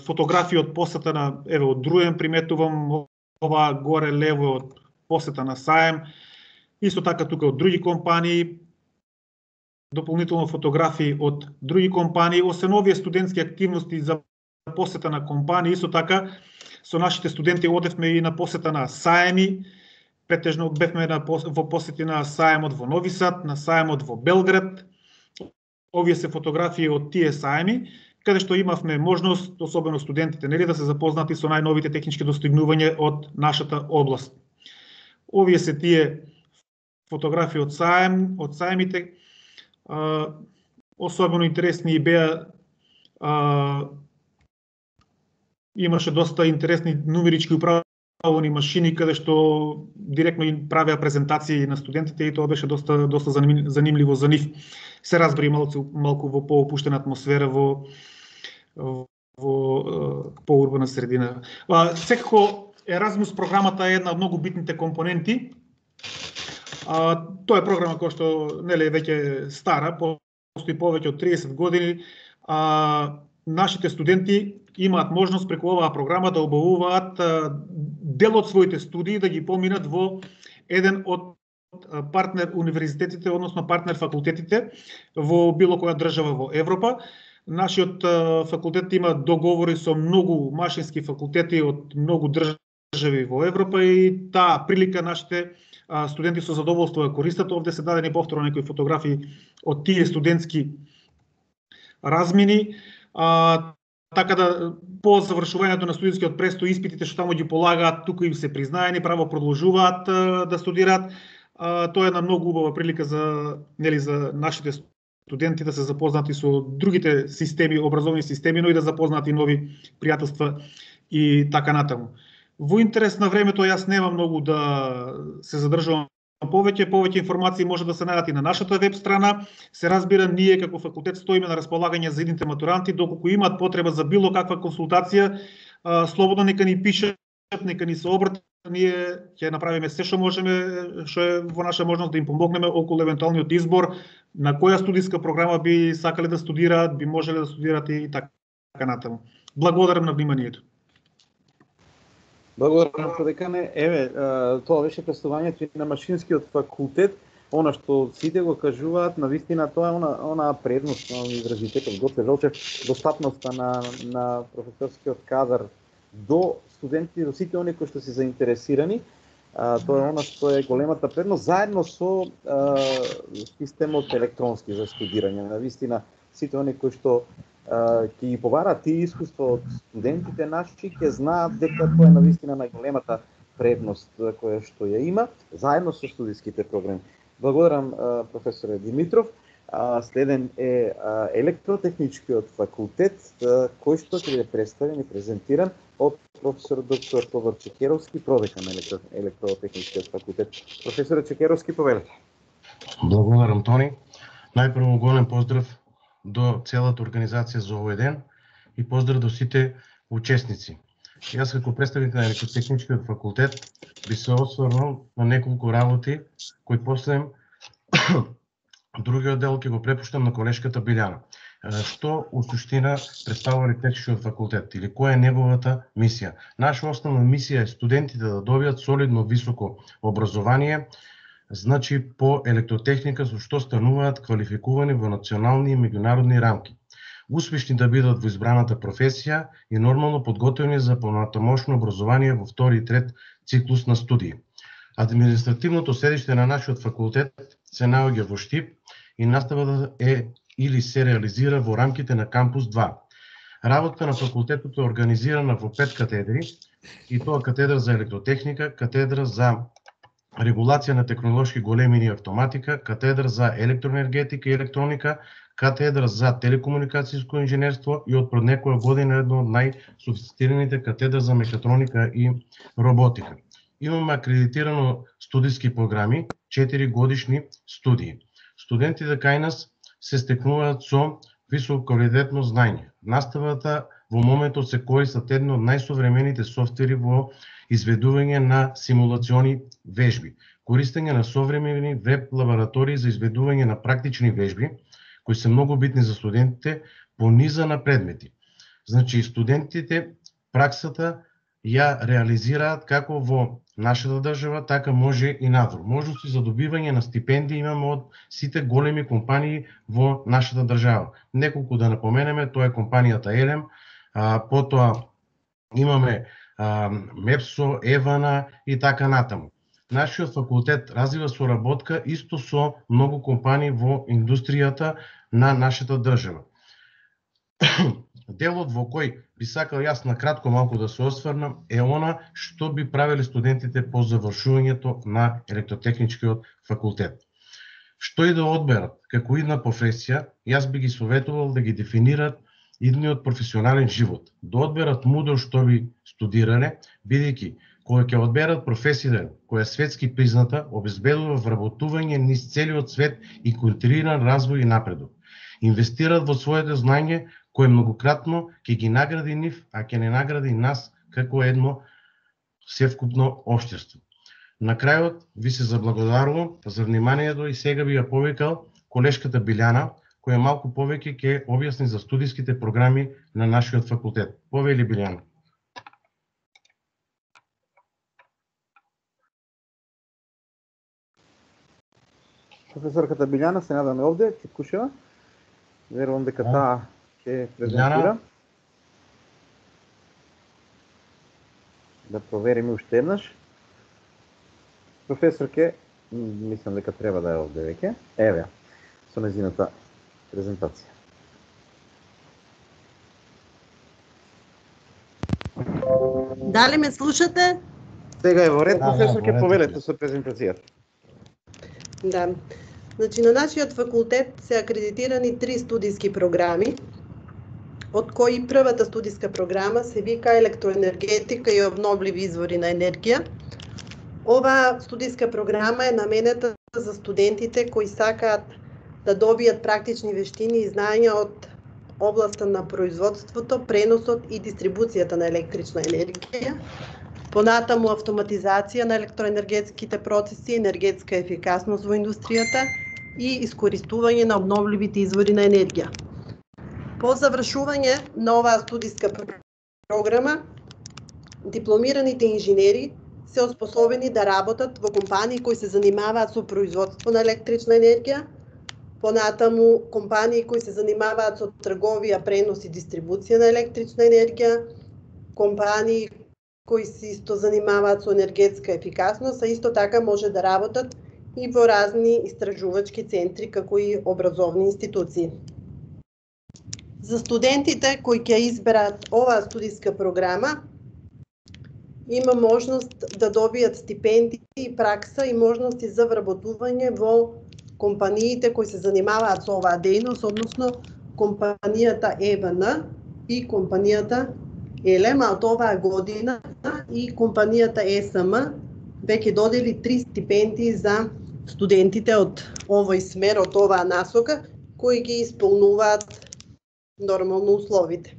фотографии од посета на, еве, од Друен приметувам, ова горе лево од посета на Саем, исто така тука од други компании, дополнително фотографии од други компании, освен овие студентски активности за посета на компании, исто така со нашите студенти одевме и на посета на Саеми, претежно бевме во посети на Саемот во Нови Сад, на Саемот во Белград. Овие се фотографии од тие Саеми, каде што имавме можност, особено студентите, нели, да се запознати со најновите технички достигнувања од нашата област. Овие се тие фотографии од Саемите. Особено интересни и беа, имаше доста интересни нумерички управени машини, каде што директно им правеа презентации на студентите и тоа беше доста занимливо за нив. Се разбери малку во поопуштена атмосфера во поурбана средина. Секако Еразмус програмата е една од многу битните компоненти. Тоа е програма која што, нели, веќе стара, постои повеќе од 30 години. Нашите студенти имаат можност преку оваа програма да обавуваат дел од своите студии да ги поминат во еден од партнер универзитетите, односно партнер факултетите во било која држава во Европа. Нашиот факултет има договори со многу машински факултети од многу држави во Европа и таа прилика нашите студенти со задоволство ја користат. Овде се дадени повторно некои фотографии од тие студентски размини. Така да по завршувањето на студентскиот престој испитите што таму ги полагаат, тука им се признаени, право продолжуваат да студираат. Тоа е една многу убава прилика за нашите студенти да се запознати со другите системи, образовни системи, но и да запознаат и нови пријателства и така натаму. Во интерес на времето јас немам многу да се задржувам повеќе информации може да се најдат и на нашата веб страна. Се разбира, ние како факултет стоиме на располагање за идните матуранти, доколку имаат потреба за било каква консултација, слободно нека ни пишат, нека ни се обратат, ние ќе направиме се што можеме, што е во наша можност да им помогнеме околу евентуалниот избор на која студиска програма би сакале да студираат, би можеле да студираат и така натаму. Благодарам на вниманието. Благодарам, продекане. Еве, тоа беше представувањето и на машинскиот факултет. Она што сите го кажуваат, навистина тоа е она предност на универзитетот Гоце Делчев, достапноста на професорскиот кадар до студенти, до сите оние кои што се заинтересирани. Тоа е она што е големата предност, заедно со системот електронски за студирање. Навистина, сите оние кои што ќе ги побараат тие искуство од студентите наши, ќе знаат дека тоа е навистина најголемата предност која што ја има, заедно со студиските програми. Благодарам, професоре Димитров. Следен е електротехничкиот факултет, кој што ќе биде представен и презентиран од професор доктор Тодор Чекеровски, продекан на електротехничкиот факултет. Професоре Чекеровски, повелете. Благодарам, Тони. Најпрво голем поздрав до целата организација за овој ден и поздрав до сите учесници. Јас како представник на електротехничкиот факултет би се осврнал на неколку работи кои после другиот дел ќе го препуштам на колешката Билјана. Што у суштина представува електротехничкиот факултет или која е неговата мисија? Наша основна мисија е студентите да добијат солидно високо образование, значи по електротехника со што стануваат квалификувани во национални и меѓународни рамки. Успешни да бидат во избраната професија и нормално подготвени за понатамошно образование во втори и трет циклус на студии. Административното седиште на нашиот факултет се наоѓа во Штип и наставата е или се реализира во рамките на кампус 2. Работата на факултетот е организирана во 5 катедри, и тоа катедра за електротехника, катедра за регулација на технолошки големини и автоматика, катедра за електроенергетика и електроника, катедра за телекомуникацијско инженерство и од пред некоја година едно од најсофистицираните катедра за мекатроника и роботика. Имаме акредитирано студиски програми, 4 годишни студии. Студентите кај нас се стекнуваат со висококвалитетно знаење. Наставата во моментот се користат едно од најсовремените софтвери во изведување на симулациони вежби, користење на современи веб лаборатории за изведување на практични вежби, кои се многу битни за студентите по низа на предмети. Значи, студентите праксата ја реализираат како во нашата држава, така може и надвор. Можности за добивање на стипендии имаме од сите големи компании во нашата држава. Неколку да напоменеме, тоа е компанијата Елем, потоа имаме Мепсо, Евана и така натаму. Нашиот факултет развива соработка исто со многу компании во индустријата на нашата држава. Делот во кој би сакал јас на кратко малку да се осврнам е она што би правеле студентите по завршувањето на електротехничкиот факултет. Што и да одберат како идна професија, јас би ги советувал да ги дефинират идниот професионален живот, да одберат мудро што би студирале, бидејќи кога ќе одберат професија која е светски призната, обезбедува вработување низ целиот свет и континуиран развој и напредок. Инвестират во своето знаење кој многократно ќе ги награди нив, а ќе не награди нас како едно севкупно општество. На крајот ви се заблагодарувам за вниманието и сега би ја повикал колешката Билјана, која малку повеќе ќе објасни за студиските програми на нашиот факултет. Повели, Билјана. Професорката Билјана се надаме овде, Чипкушева. Верувам дека таа ќе презентира. Да провериме уште еднаш. Професорке, мислам дека треба да е овде веќе. Еве, со незината презентација. Дали ме слушате? Сега е во ред, професорке, повелете со презентацијата. Да. Значи, на нашиот факултет се акредитирани 3 студиски програми. од кои првата студиска програма се вика електроенергетика и обновливи извори на енергија. Оваа студиска програма е наменета за студентите кои сакаат да добијат практични вештини и знаења од областа на производството, преносот и дистрибуцијата на електрична енергија, понатаму автоматизација на електроенергетските процеси, енергетска ефикасност во индустријата и искористување на обновливите извори на енергија. По завршување на оваа студиска програма, дипломираните инженери се оспособени да работат во компании кои се занимаваат со производство на електрична енергија, понатаму компании кои се занимаваат со трговија, пренос и дистрибуција на електрична енергија, компании кои се исто занимаваат со енергетска ефикасност, а исто така може да работат и во разни истражувачки центри како и образовни институции. За студентите кои ќе изберат оваа студиска програма, има можност да добијат стипендии и пракса и можности за вработување во компаниите кои се занимаваат со оваа дејност, односно компанијата ЕВН и компанијата ЕЛЕМ, а од оваа година и компанијата ЕСМ веќе додели 3 стипендии за студентите од овој смер, од оваа насока, кои ги исполнуваат нормално условите.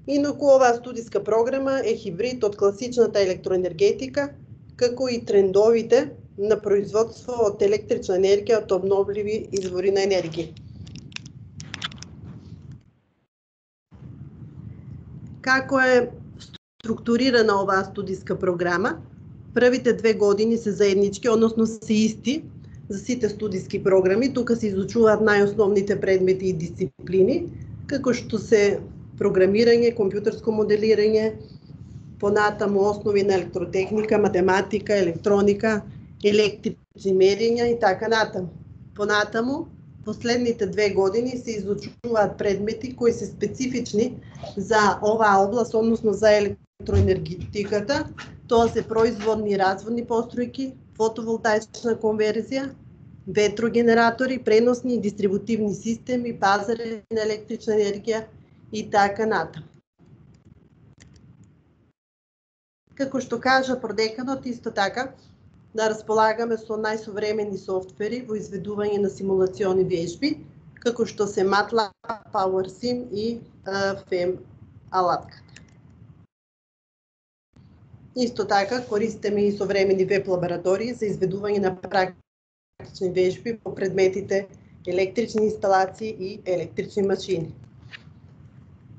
Инаку оваа студиска програма е хибрид од класичната електроенергетика, како и трендовите на производство од електрична енергија од обновливи извори на енергија. Како е структурирана оваа студиска програма? Првите 2 години се заеднички, односно се исти за сите студиски програми. Тука се изучуваат најосновните предмети и дисциплини, како што се програмирање, компјутерско моделирање, понатаму основи на електротехника, математика, електроника, електрични мерења и така натаму. Понатаму, последните 2 години се изучуваат предмети кои се специфични за оваа област, односно за електроенергетиката. Тоа се производни и разводни постројки, фотоволтаична конверзија, ветрогенератори, преносни и дистрибутивни системи, пазари на електрична енергија и така натаму. Како што кажа продеканот, исто така, да располагаме со најсовремени софтвери во изведување на симулациони вежби, како што се MATLAB, PowerSim и FEM алатката. Исто така, користиме и современи веб лаборатории за изведување на практични вежби по предметите електрични инсталации и електрични машини.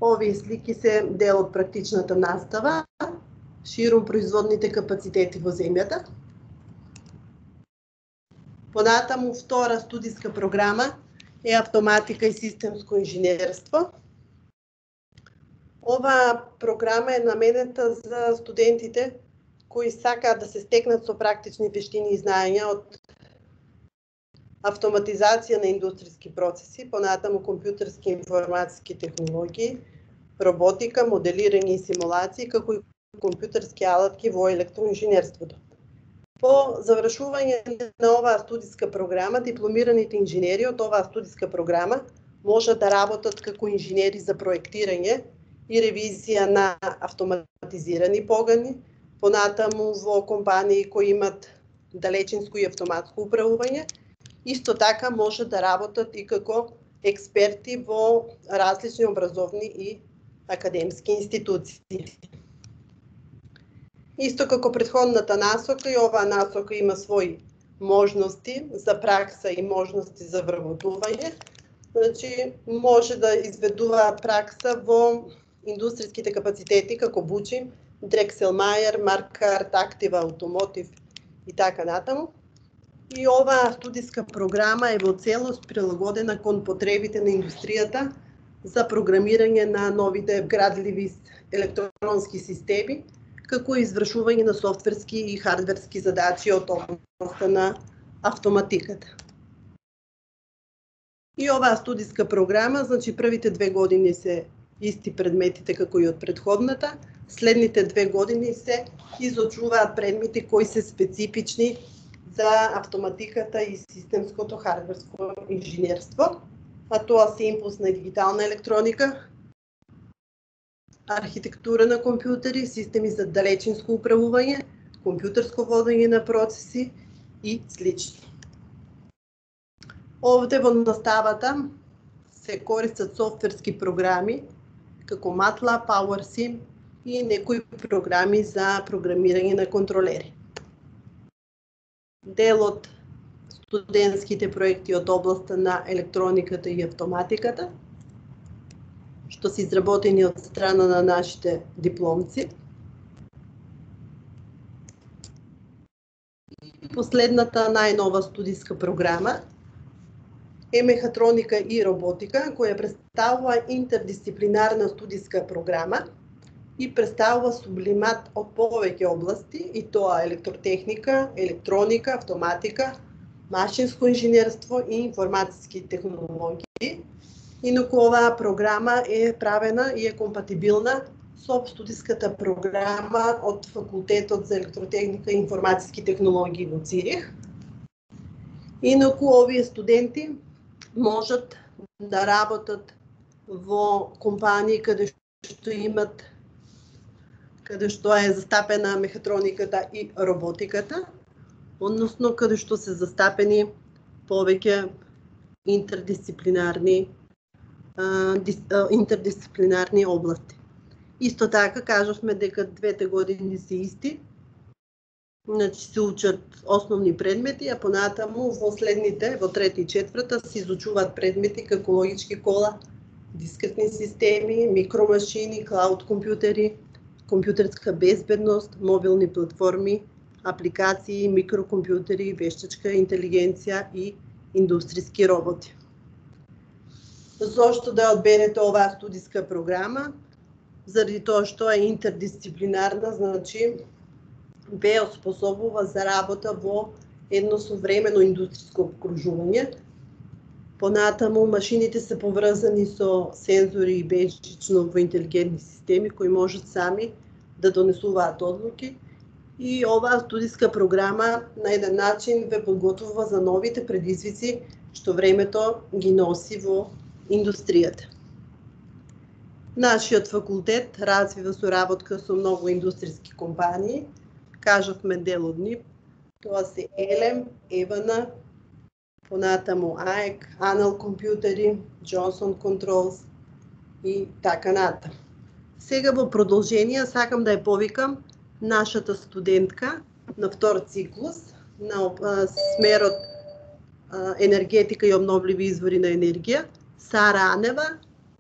Овие слики се дел од практичната настава, ширум производните капацитети во земјата. Понатаму втора студиска програма е автоматика и системско инженерство. Оваа програма е наменета за студентите кои сакаат да се стекнат со практични вештини и знаења од автоматизација на индустријски процеси, понатаму компјутерски и информатски технологии, роботика, моделирање и симулации, како и компјутерски алатки во електроинженерството. По завршување на оваа студиска програма, дипломираните инженери од оваа студиска програма можат да работат како инженери за проектирање и ревизија на автоматизирани погани, понатаму во компании кои имат далечинско и автоматско управување. Исто така може да работат и како експерти во различни образовни и академски институции. Исто како претходната насока, и оваа насока има своји можности за пракса и можности за вработување. Значи, може да изведуваат пракса во индустријските капацитети како Бучим, Дрекселмајер, Маркарт, Актива, Автомотив и така натаму. И оваа студиска програма е во целост прилагодена кон потребите на индустријата за програмирање на новите вградливи електронски системи, како и извршување на софтверски и хардверски задачи од областта на автоматиката. И оваа студиска програма, значи првите 2 години се исти предметите како и од претходната, следните 2 години се изучуваат предмети кои се специфични за автоматиката и системското хардверско инженерство, а тоа се импулсна и дигитална електроника, архитектура на компјутери, системи за далечинско управување, компјутерско водење на процеси и слично. Овде во наставата се користат софтверски програми како MATLAB, PowerSim и некои програми за програмирање на контролери. Дел од студентските проекти од областа на електрониката и автоматиката, што се изработени од страна на нашите дипломци. Последната најнова студиска програма е мехатроника и роботика, која представува интердисциплинарна студиска програма и представува сублимат од повеќе области, и тоа електротехника, електроника, автоматика, машинско инженерство и информатски технологии. Инаку оваа програма е правена и е компатибилна со студиската програма од Факултетот за електротехника и информатски технологии во Цирих. Инаку овие студенти можат да работат во компании каде што е застапена мехатрониката и роботиката, односно каде што се застапени повеќе интердисциплинарни области. Исто така кажавме дека двете години се исти, значи се учат основни предмети, а понатаму во следните, во трета и четврта, се изучуваат предмети како логички кола, дискретни системи, микромашини, клауд компјутери, компјутерска безбедност, мобилни платформи, апликации, микрокомпјутери, вештачка интелигенција и индустријски роботи. Зошто да одберете оваа студиска програма? Заради тоа што е интердисциплинарна, значи ве оспособува за работа во едно современо индустријско обкружување. Понатаму машините се поврзани со сензори и бежично во интелигентни системи кои можат сами да донесуваат одлуки, и оваа студиска програма на еден начин ве подготвува за новите предизвици што времето ги носи во индустријата. Нашиот факултет развива соработка со многу индустријски компании. Кажавме дел од нив. Тоа се Елем, Евана, понатаму АЕК, Анал компјутери, Джонсон Контролс и така натаму. Сега во продолжение сакам да ја повикам нашата студентка на втор циклус на смерот енергетика и обновливи извори на енергија, Сара Анева,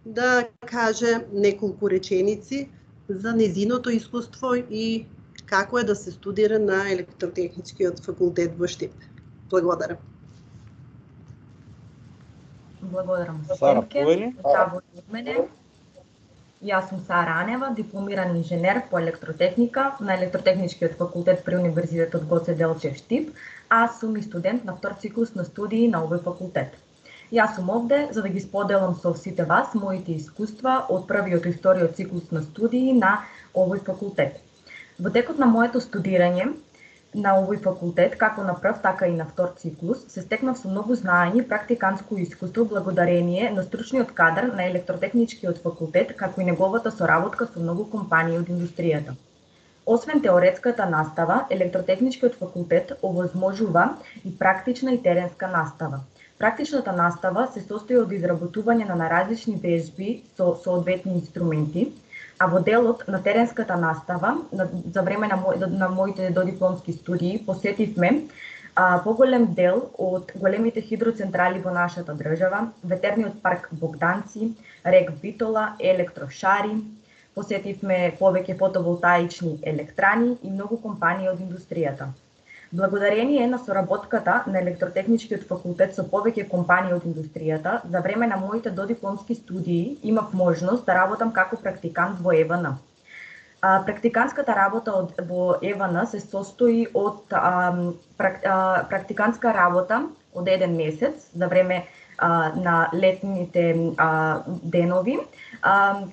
да каже неколку реченици за незиното искуство и како е да се студира на електротехничкиот факултет во Штип. Благодарам. Благодарам. Сара, повели? Од мене. Јас сум Сара Анева, дипломиран инженер по електротехника на електротехничкиот факултет при Универзитетот Гоце Делчев Штип, а сум и студент на втор циклус на студии на овој факултет. Јас сум овде за да ги споделам со сите вас моите искуства од првиот и вториот циклус на студии на овој факултет. Во текот на моето студирање на овој факултет, како на прв, така и на втор циклус, се стекнав со многу знаење и практиканско искуство благодарение на стручниот кадар на електротехничкиот факултет, како и неговата соработка со многу компании од индустријата. Освен теоретската настава, електротехничкиот факултет овозможува и практична и теренска настава. Практичната настава се состои од изработување на различни вежби со соодветни инструменти, а во делот на теренската настава, за време на моите додипломски студии, посетивме поголем дел од големите хидроцентрали во нашата држава, ветерниот парк Богданци, рек Битола, електрошари, посетивме повеќе фотоволтаични електрани и многу компании од индустријата. Благодарение на соработката на електротехничкиот факултет со повеќе компании од индустријата, за време на моите додипломски студии имав можност да работам како практикант во ЕВН. Практиканската работа во ЕВН се состои од практиканска работа од еден месец за време на летните денови,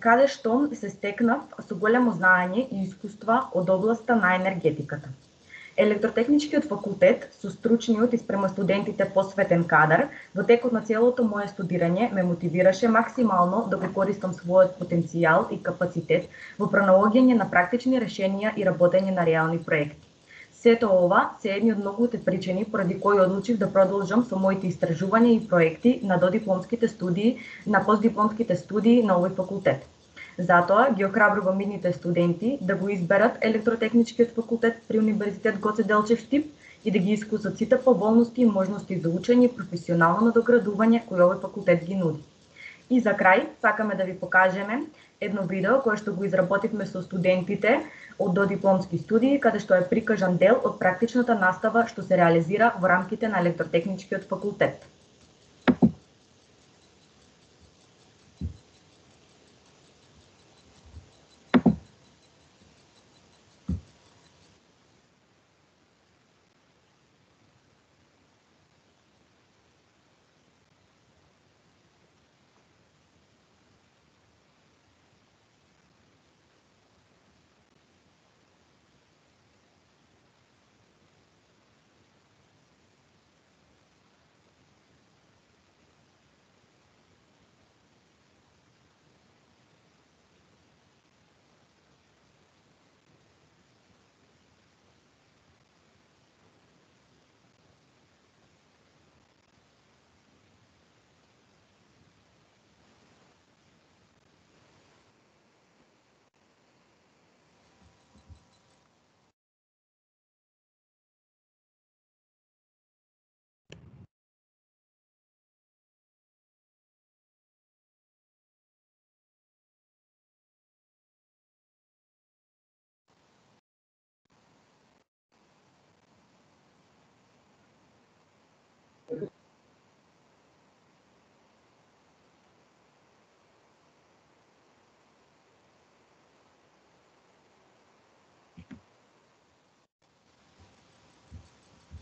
каде што се стекнав со големо знаење и искуства од областа на енергетиката. Електротехничкиот факултет со стручниот и спрема студентите посветен кадар, во текот на целото мое студирање ме мотивираше максимално да го користам својот потенцијал и капацитет во пронаоѓање на практични решенија и работење на реални проекти. Сето ова се едни од многуте причини поради кои одлучив да продолжам со моите истражувања и проекти на додипломските студии, на постдипломските студии на овој факултет. Затоа ги охрабрувам идните студенти да го изберат електротехничкиот факултет при Универзитет Гоце Делчев Штип и да ги искусат сите поволности и можности за учење и професионално надоградување кои овој факултет ги нуди. И за крај, сакаме да ви покажеме едно видео кое што го изработивме со студентите од додипломски студии, каде што е прикажан дел од практичната настава што се реализира во рамките на електротехничкиот факултет.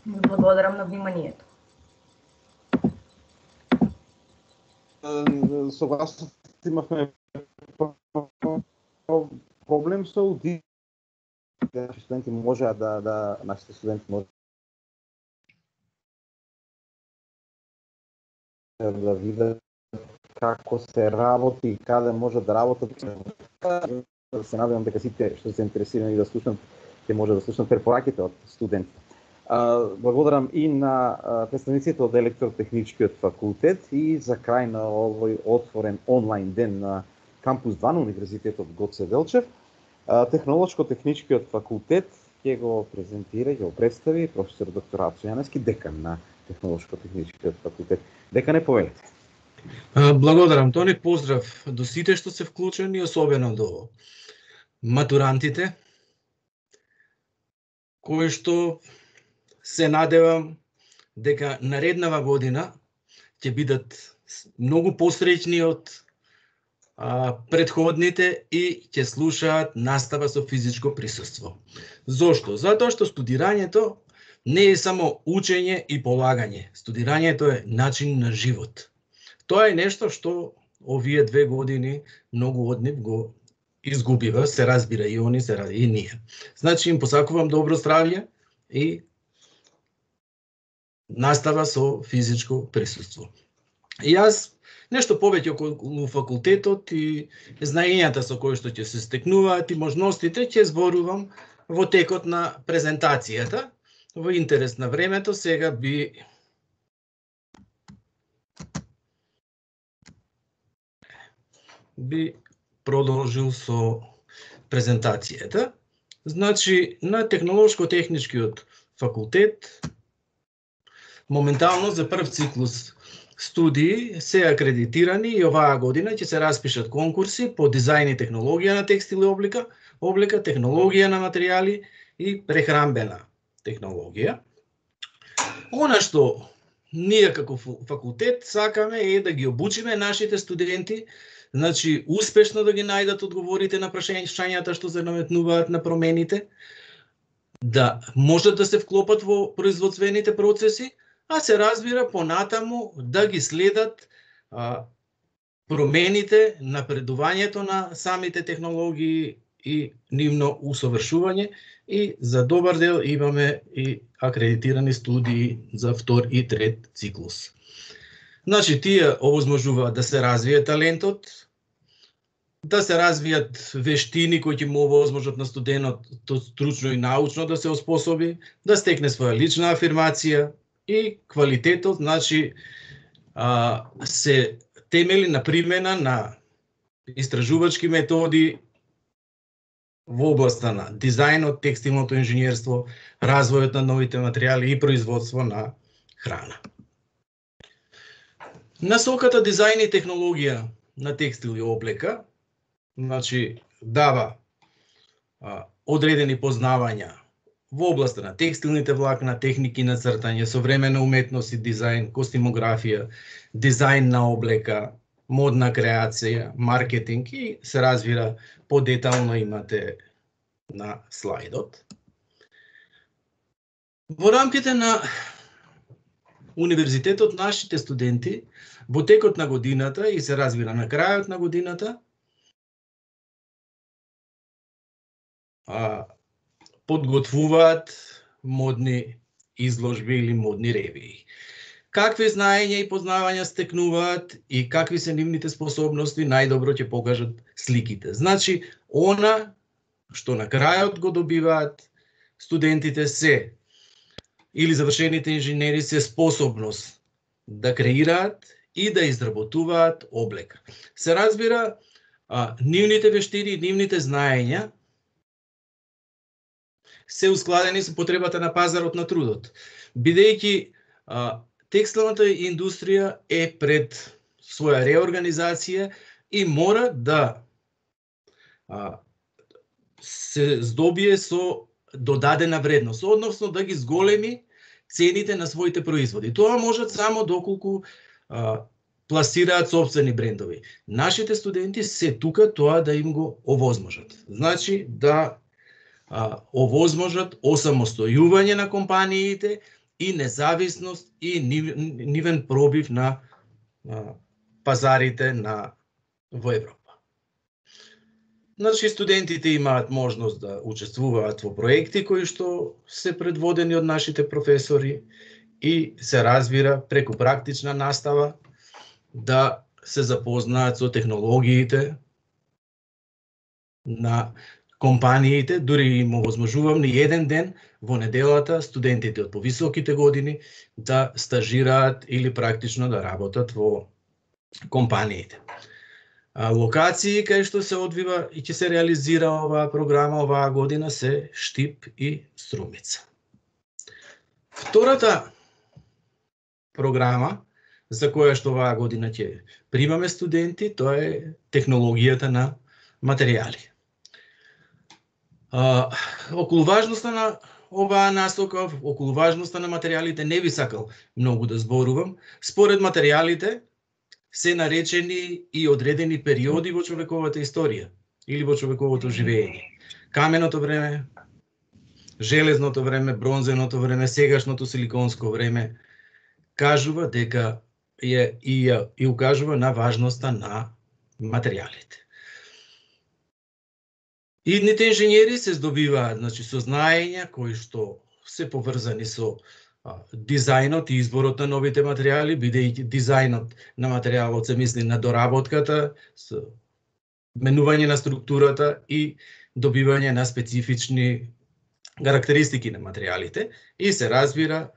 Ви благодарам на вниманието. Согласно имавме проблем со аудио. Нашите студенти можеа нашите студенти можеа да видат како се работи и каде може да работат. Се надевам дека сите што се интересирани да слушнат ќе може да слушнат препораките од студентите. Благодарам и на представниците од Електротехничкиот факултет и за крај на овој отворен онлайн ден на кампус 2 на Универзитетот Гоце Делчев. Технолошко-техничкиот факултет ќе го презентира, ќе го представи професор доктор Ацо Јаневски, декан на Технолошко-техничкиот факултет. Декане, повелете. Благодарам, Тони. Поздрав до сите што се вклучени, особено до матурантите, кои што се надевам дека нареднава година ќе бидат многу посреќни од предходните и ќе слушаат настава со физичко присуство. Зошто? Затоа што студирањето не е само учење и полагање. Студирањето е начин на живот. Тоа е нешто што овие 2 години многу од нив го изгубива, се разбира и они, и ние. Значи им посакувам добро здравје и настава со физичко присуство. И јас нешто повеќе околу факултетот и знаењата со кои што ќе се стекнуваат и можностите ќе зборувам во текот на презентацијата. Во интерес на времето сега би продолжил со презентацијата. Значи, на Технолошко-техничкиот факултет моментално за прв циклус студии се акредитирани и оваа година ќе се распишат конкурси по дизајн и технологија на текстил и облека, технологија на материјали и прехранбена технологија. Она што ние како факултет сакаме е да ги обучиме нашите студенти, значи успешно да ги најдат одговорите на прашањата што се наметнуваат на промените, да можат да се вклопат во производствените процеси, а се разбира понатаму да ги следат промените, напредувањето на самите технологии и нивно усовршување, и за добар дел имаме и акредитирани студии за втор и трет циклус. Значи, тие овозможуваат да се развие талентот, да се развијат вештини кои ќе му овозможат на студентот стручно и научно да се оспособи, да стекне своја лична афирмација и квалитетот, значи, се темели на примена на истражувачки методи во областа на дизајнот, текстилното инженерство, развојот на новите материјали и производство на храна. Насоката дизајн и технологија на текстил и облека, значи, дава одредени познавања во областа на текстилните влакна, техники на цртање, современа уметност и дизајн, костимографија, дизајн на облека, модна креација, маркетинг и се развира подетално, имате на слайдот. Во рамките на универзитетот, нашите студенти во текот на годината и се развира на крајот на годината подготвуваат модни изложби или модни ревии. Какви знаења и познавања стекнуваат и какви се нивните способности, најдобро ќе покажат сликите. Значи, она што на крајот го добиваат студентите се, или завршените инженери, се способност да креираат и да изработуваат облека. Се разбира, нивните вештини и нивните знаења се ускладени со потребата на пазарот на трудот, бидејќи текстилната индустрија е пред своја реорганизација и мора да се здобие со додадена вредност, односно да ги зголеми цените на своите производи. Тоа можат само доколку пласираат собствени брендови. Нашите студенти се тука тоа да им го овозможат. Значи да овозможат осамостојување на компаниите и независност и нивен пробив на пазарите во Европа. Значи, студентите имаат можност да учествуваат во проекти кои што се предводени од нашите професори и се разбира преку практична настава да се запознаат со технологиите на компаниите, дури им овозможувам ни еден ден во неделата студентите од повисоките години да стажираат или практично да работат во компаниите. Локации кај што се одвива и ќе се реализира оваа програма оваа година се Штип и Струмица. Втората програма за која што оваа година ќе примаме студенти, тоа е технологијата на материјали. Околу важноста на оваа насока, околу важноста на материјалите не би сакал многу да зборувам. Според материјалите се наречени и одредени периоди во човековата историја или во човековото живење. Каменото време, железното време, бронзеното време, сегашното силиконско време кажува дека и укажува на важноста на материјалите. Идните инженери се здобиваат, значи, со знаења кои што се поврзани со дизајнот и изборот на новите материјали, бидејќи дизајнот на материјалот се мисли на доработката, со менување на структурата и добивање на специфични карактеристики на материјалите и се разбира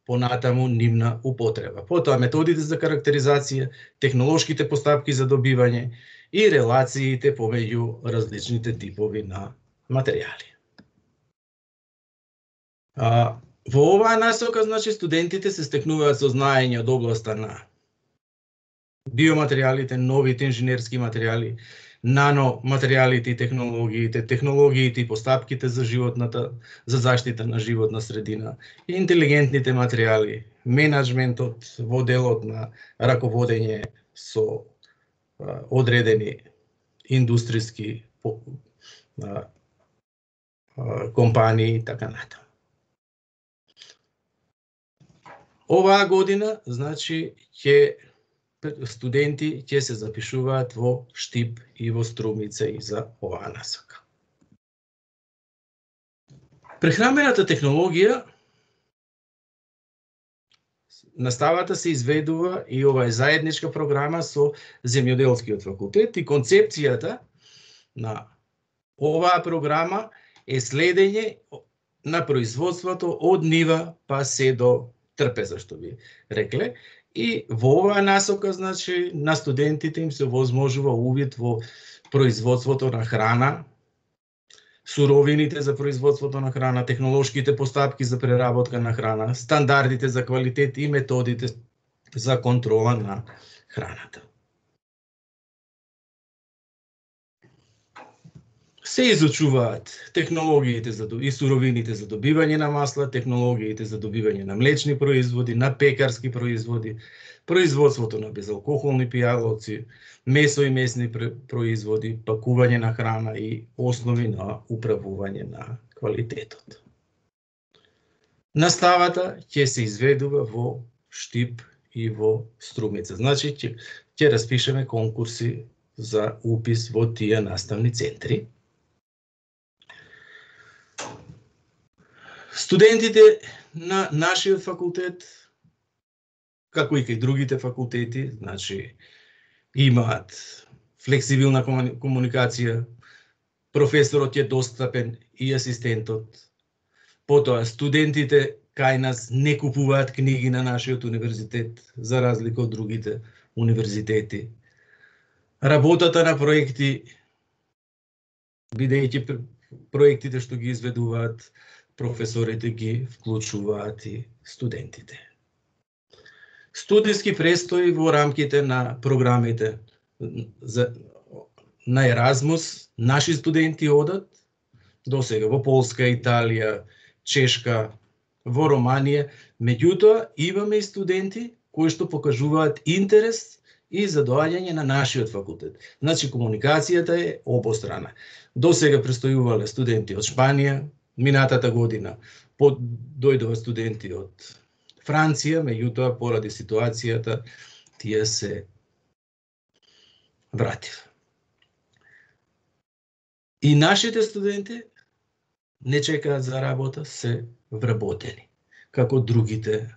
понатаму нивна употреба. Потоа методите за карактеризација, технолошките постапки за добивање и релациите помеѓу различните типови на материјали. Во оваа насока, значи, студентите се стекнуваат со знаење од областа на биоматеријалите, новите инженерски материјали, наноматеријалите и технологиите, технологиите и постапките за за заштита на животна средина, интелигентните материјали, менаџментот во делот на раководење со одредени индустријски компании и така натаму. Оваа година, значи, студенти ќе се запишуваат во Штип и во Струмица и за оваа насока. Прехранбената технологија, наставата се изведува и ова е заедничка програма со земјоделскиот факултет и концепцијата на оваа програма е следење на производството од нива па се до трпеза, што би рекле. И во оваа насока, значи, на студентите им се возможува увид во производството на храна, суровините за производството на храна, технолошките постапки за преработка на храна, стандардите за квалитет и методите за контрола на храната. Се изучуваат технологиите и суровините за добивање на масла, технологиите за добивање на млечни производи, на пекарски производи, производството на безалкохолни пијалоци, месо и месни производи, пакување на храна и основи на управување на квалитетот. Наставата ќе се изведува во Штип и во Струмица. Значи, ќе распишеме конкурси за упис во тие наставни центри. Студентите на нашиот факултет, како и кај другите факултети, значи, имаат флексибилна комуникација, професорот е достапен и асистентот. Потоа, студентите кај нас не купуваат книги на нашиот универзитет, за разлика од другите универзитети. Работата на проекти, бидејќи проектите што ги изведуваат, професорите ги вклучуваат и студентите. Студиски престои во рамките на програмите на Еразмус, наши студенти одат до сега во Полска, Италија, Чешка, во Романија. Меѓутоа, имаме и студенти кои што покажуваат интерес и за доаѓање на нашиот факултет. Значи, комуникацијата е обострана. До сега престојувале студенти од Шпанија, минатата година дојдоа студенти од Франција, меѓутоа поради ситуацијата тие се вратив. И нашите студенти не чекаат за работа, се вработени, како другите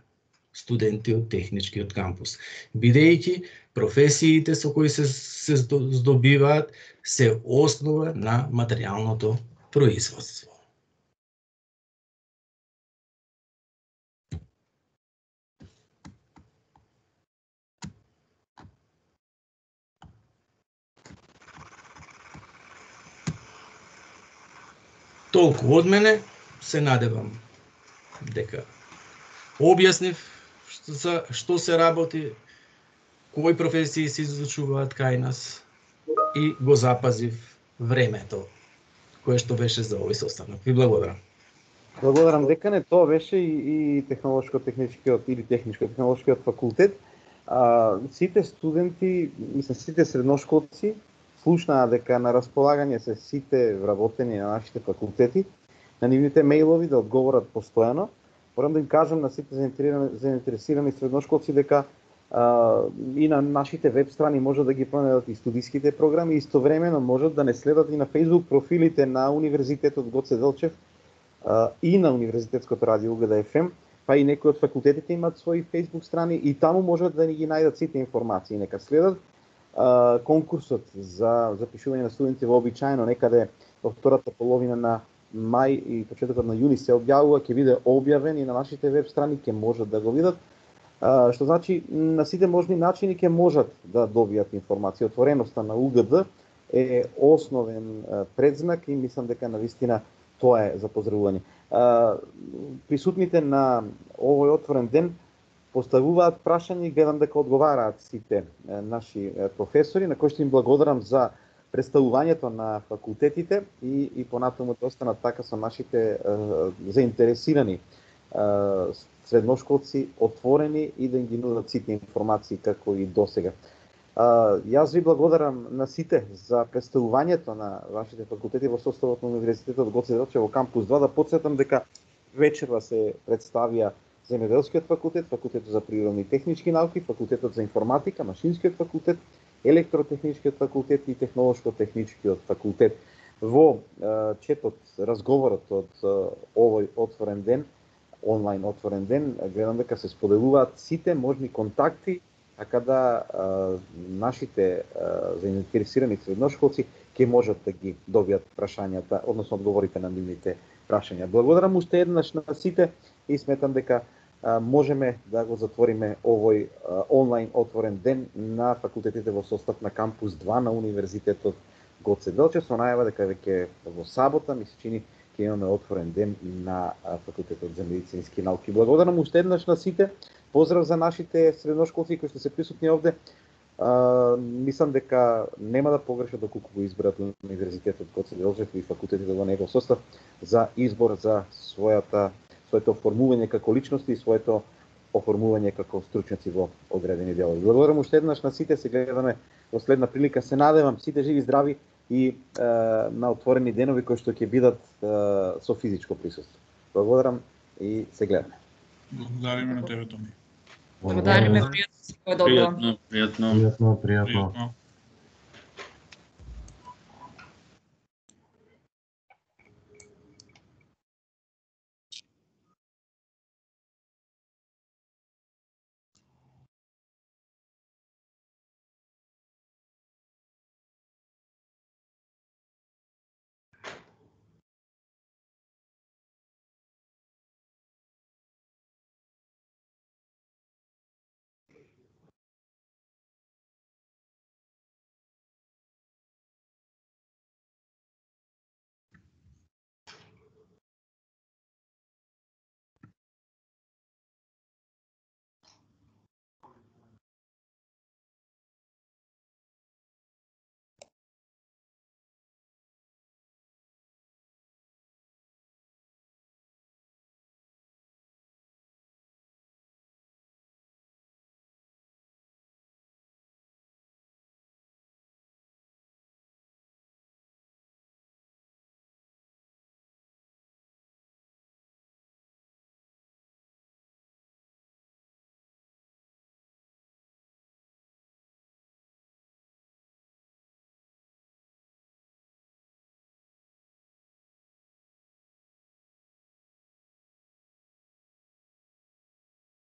студенти од техничкиот кампус. Бидејќи професиите со кои се здобиваат се основа на материјалното производство. Толку од мене, се надевам дека објаснив што се работи, кои професии се изучуваат кај нас и го запазив времето кое што беше за овој состанок. Ви благодарам. Благодарам, декане. Тоа беше и технолошко-техничкиот или техничко-технолошкиот факултет. Сите студенти, сите средношколци слушнаа дека на располагање се сите вработени на нашите факултети, на нивните мејлови да одговорат постојано. Морам да им кажам на сите заинтересирани средношколци дека и на нашите веб страни можат да ги пронајдат и студиските програми, истовремено можат да не следат и на Facebook профилите на Универзитетот Гоце Делчев и на Универзитетското радио УГД FM, па и некои од факултетите имаат своји Facebook страни и таму можат да ни ги најдат сите информации. Нека следат конкурсот за запишување на студенти вообичаено некаде во втората половина на мај и почетокот на јуни се објавува, ќе биде објавен и на нашите веб страни, ќе можат да го видат. Што значи на сите можни начини ќе можат да добијат информација. Отвореноста на УГД е основен предзнак и мислам дека навистина тоа е за поздравување. Присутните на овој отворен ден поставуваат прашања и гледам дека одговараат сите наши професори, на кои што им благодарам за представувањето на факултетите и понатаму да останат така со нашите заинтересирани средношколци отворени и да им ги нудат сите информации како и досега. Јас ви благодарам на сите за представувањето на вашите факултети во составот на Универзитетот Гоце Делчев во кампус 2. Да потсетам дека вечерва се представија Земјоделскиот факултет, Факултетот за природни и технички науки, Факултетот за информатика, Машинскиот факултет, Електротехничкиот факултет и Технолошко-техничкиот факултет. Во четот, разговорот од овој отворен ден, онлайн отворен ден, гледам дека се споделуваат сите можни контакти, така да нашите заинтересирани средношколци ќе можат да ги добијат прашањата, односно одговорите на нивните прашања. Благодарам уште еднаш на сите и сметам дека можеме да го затвориме овој онлайн отворен ден на факултетите во состав на кампус 2 на Универзитетот Гоце Делчев, со најава дека веќе во сабота ми се чини ќе имаме отворен ден на факултетот за медицински науки. Благодарам уште еднаш на сите. Поздрав за нашите средношколци кои што се присутни овде. Мислам дека нема да погрешат доколку го изберат Универзитетот Гоце Делчев и факултетите во негов состав за избор за своето оформување како личности и своето оформување како стручњаци во одредени делови. Благодарам уште еднаш на сите, се гледаме во следна прилика. Се надевам сите живи здрави и на отворени денови кои што ќе бидат со физичко присуство. Благодарам и се гледаме. Благодариме на тебе, Тони. Благодариме, пријатно. Пријатно. Пријатно.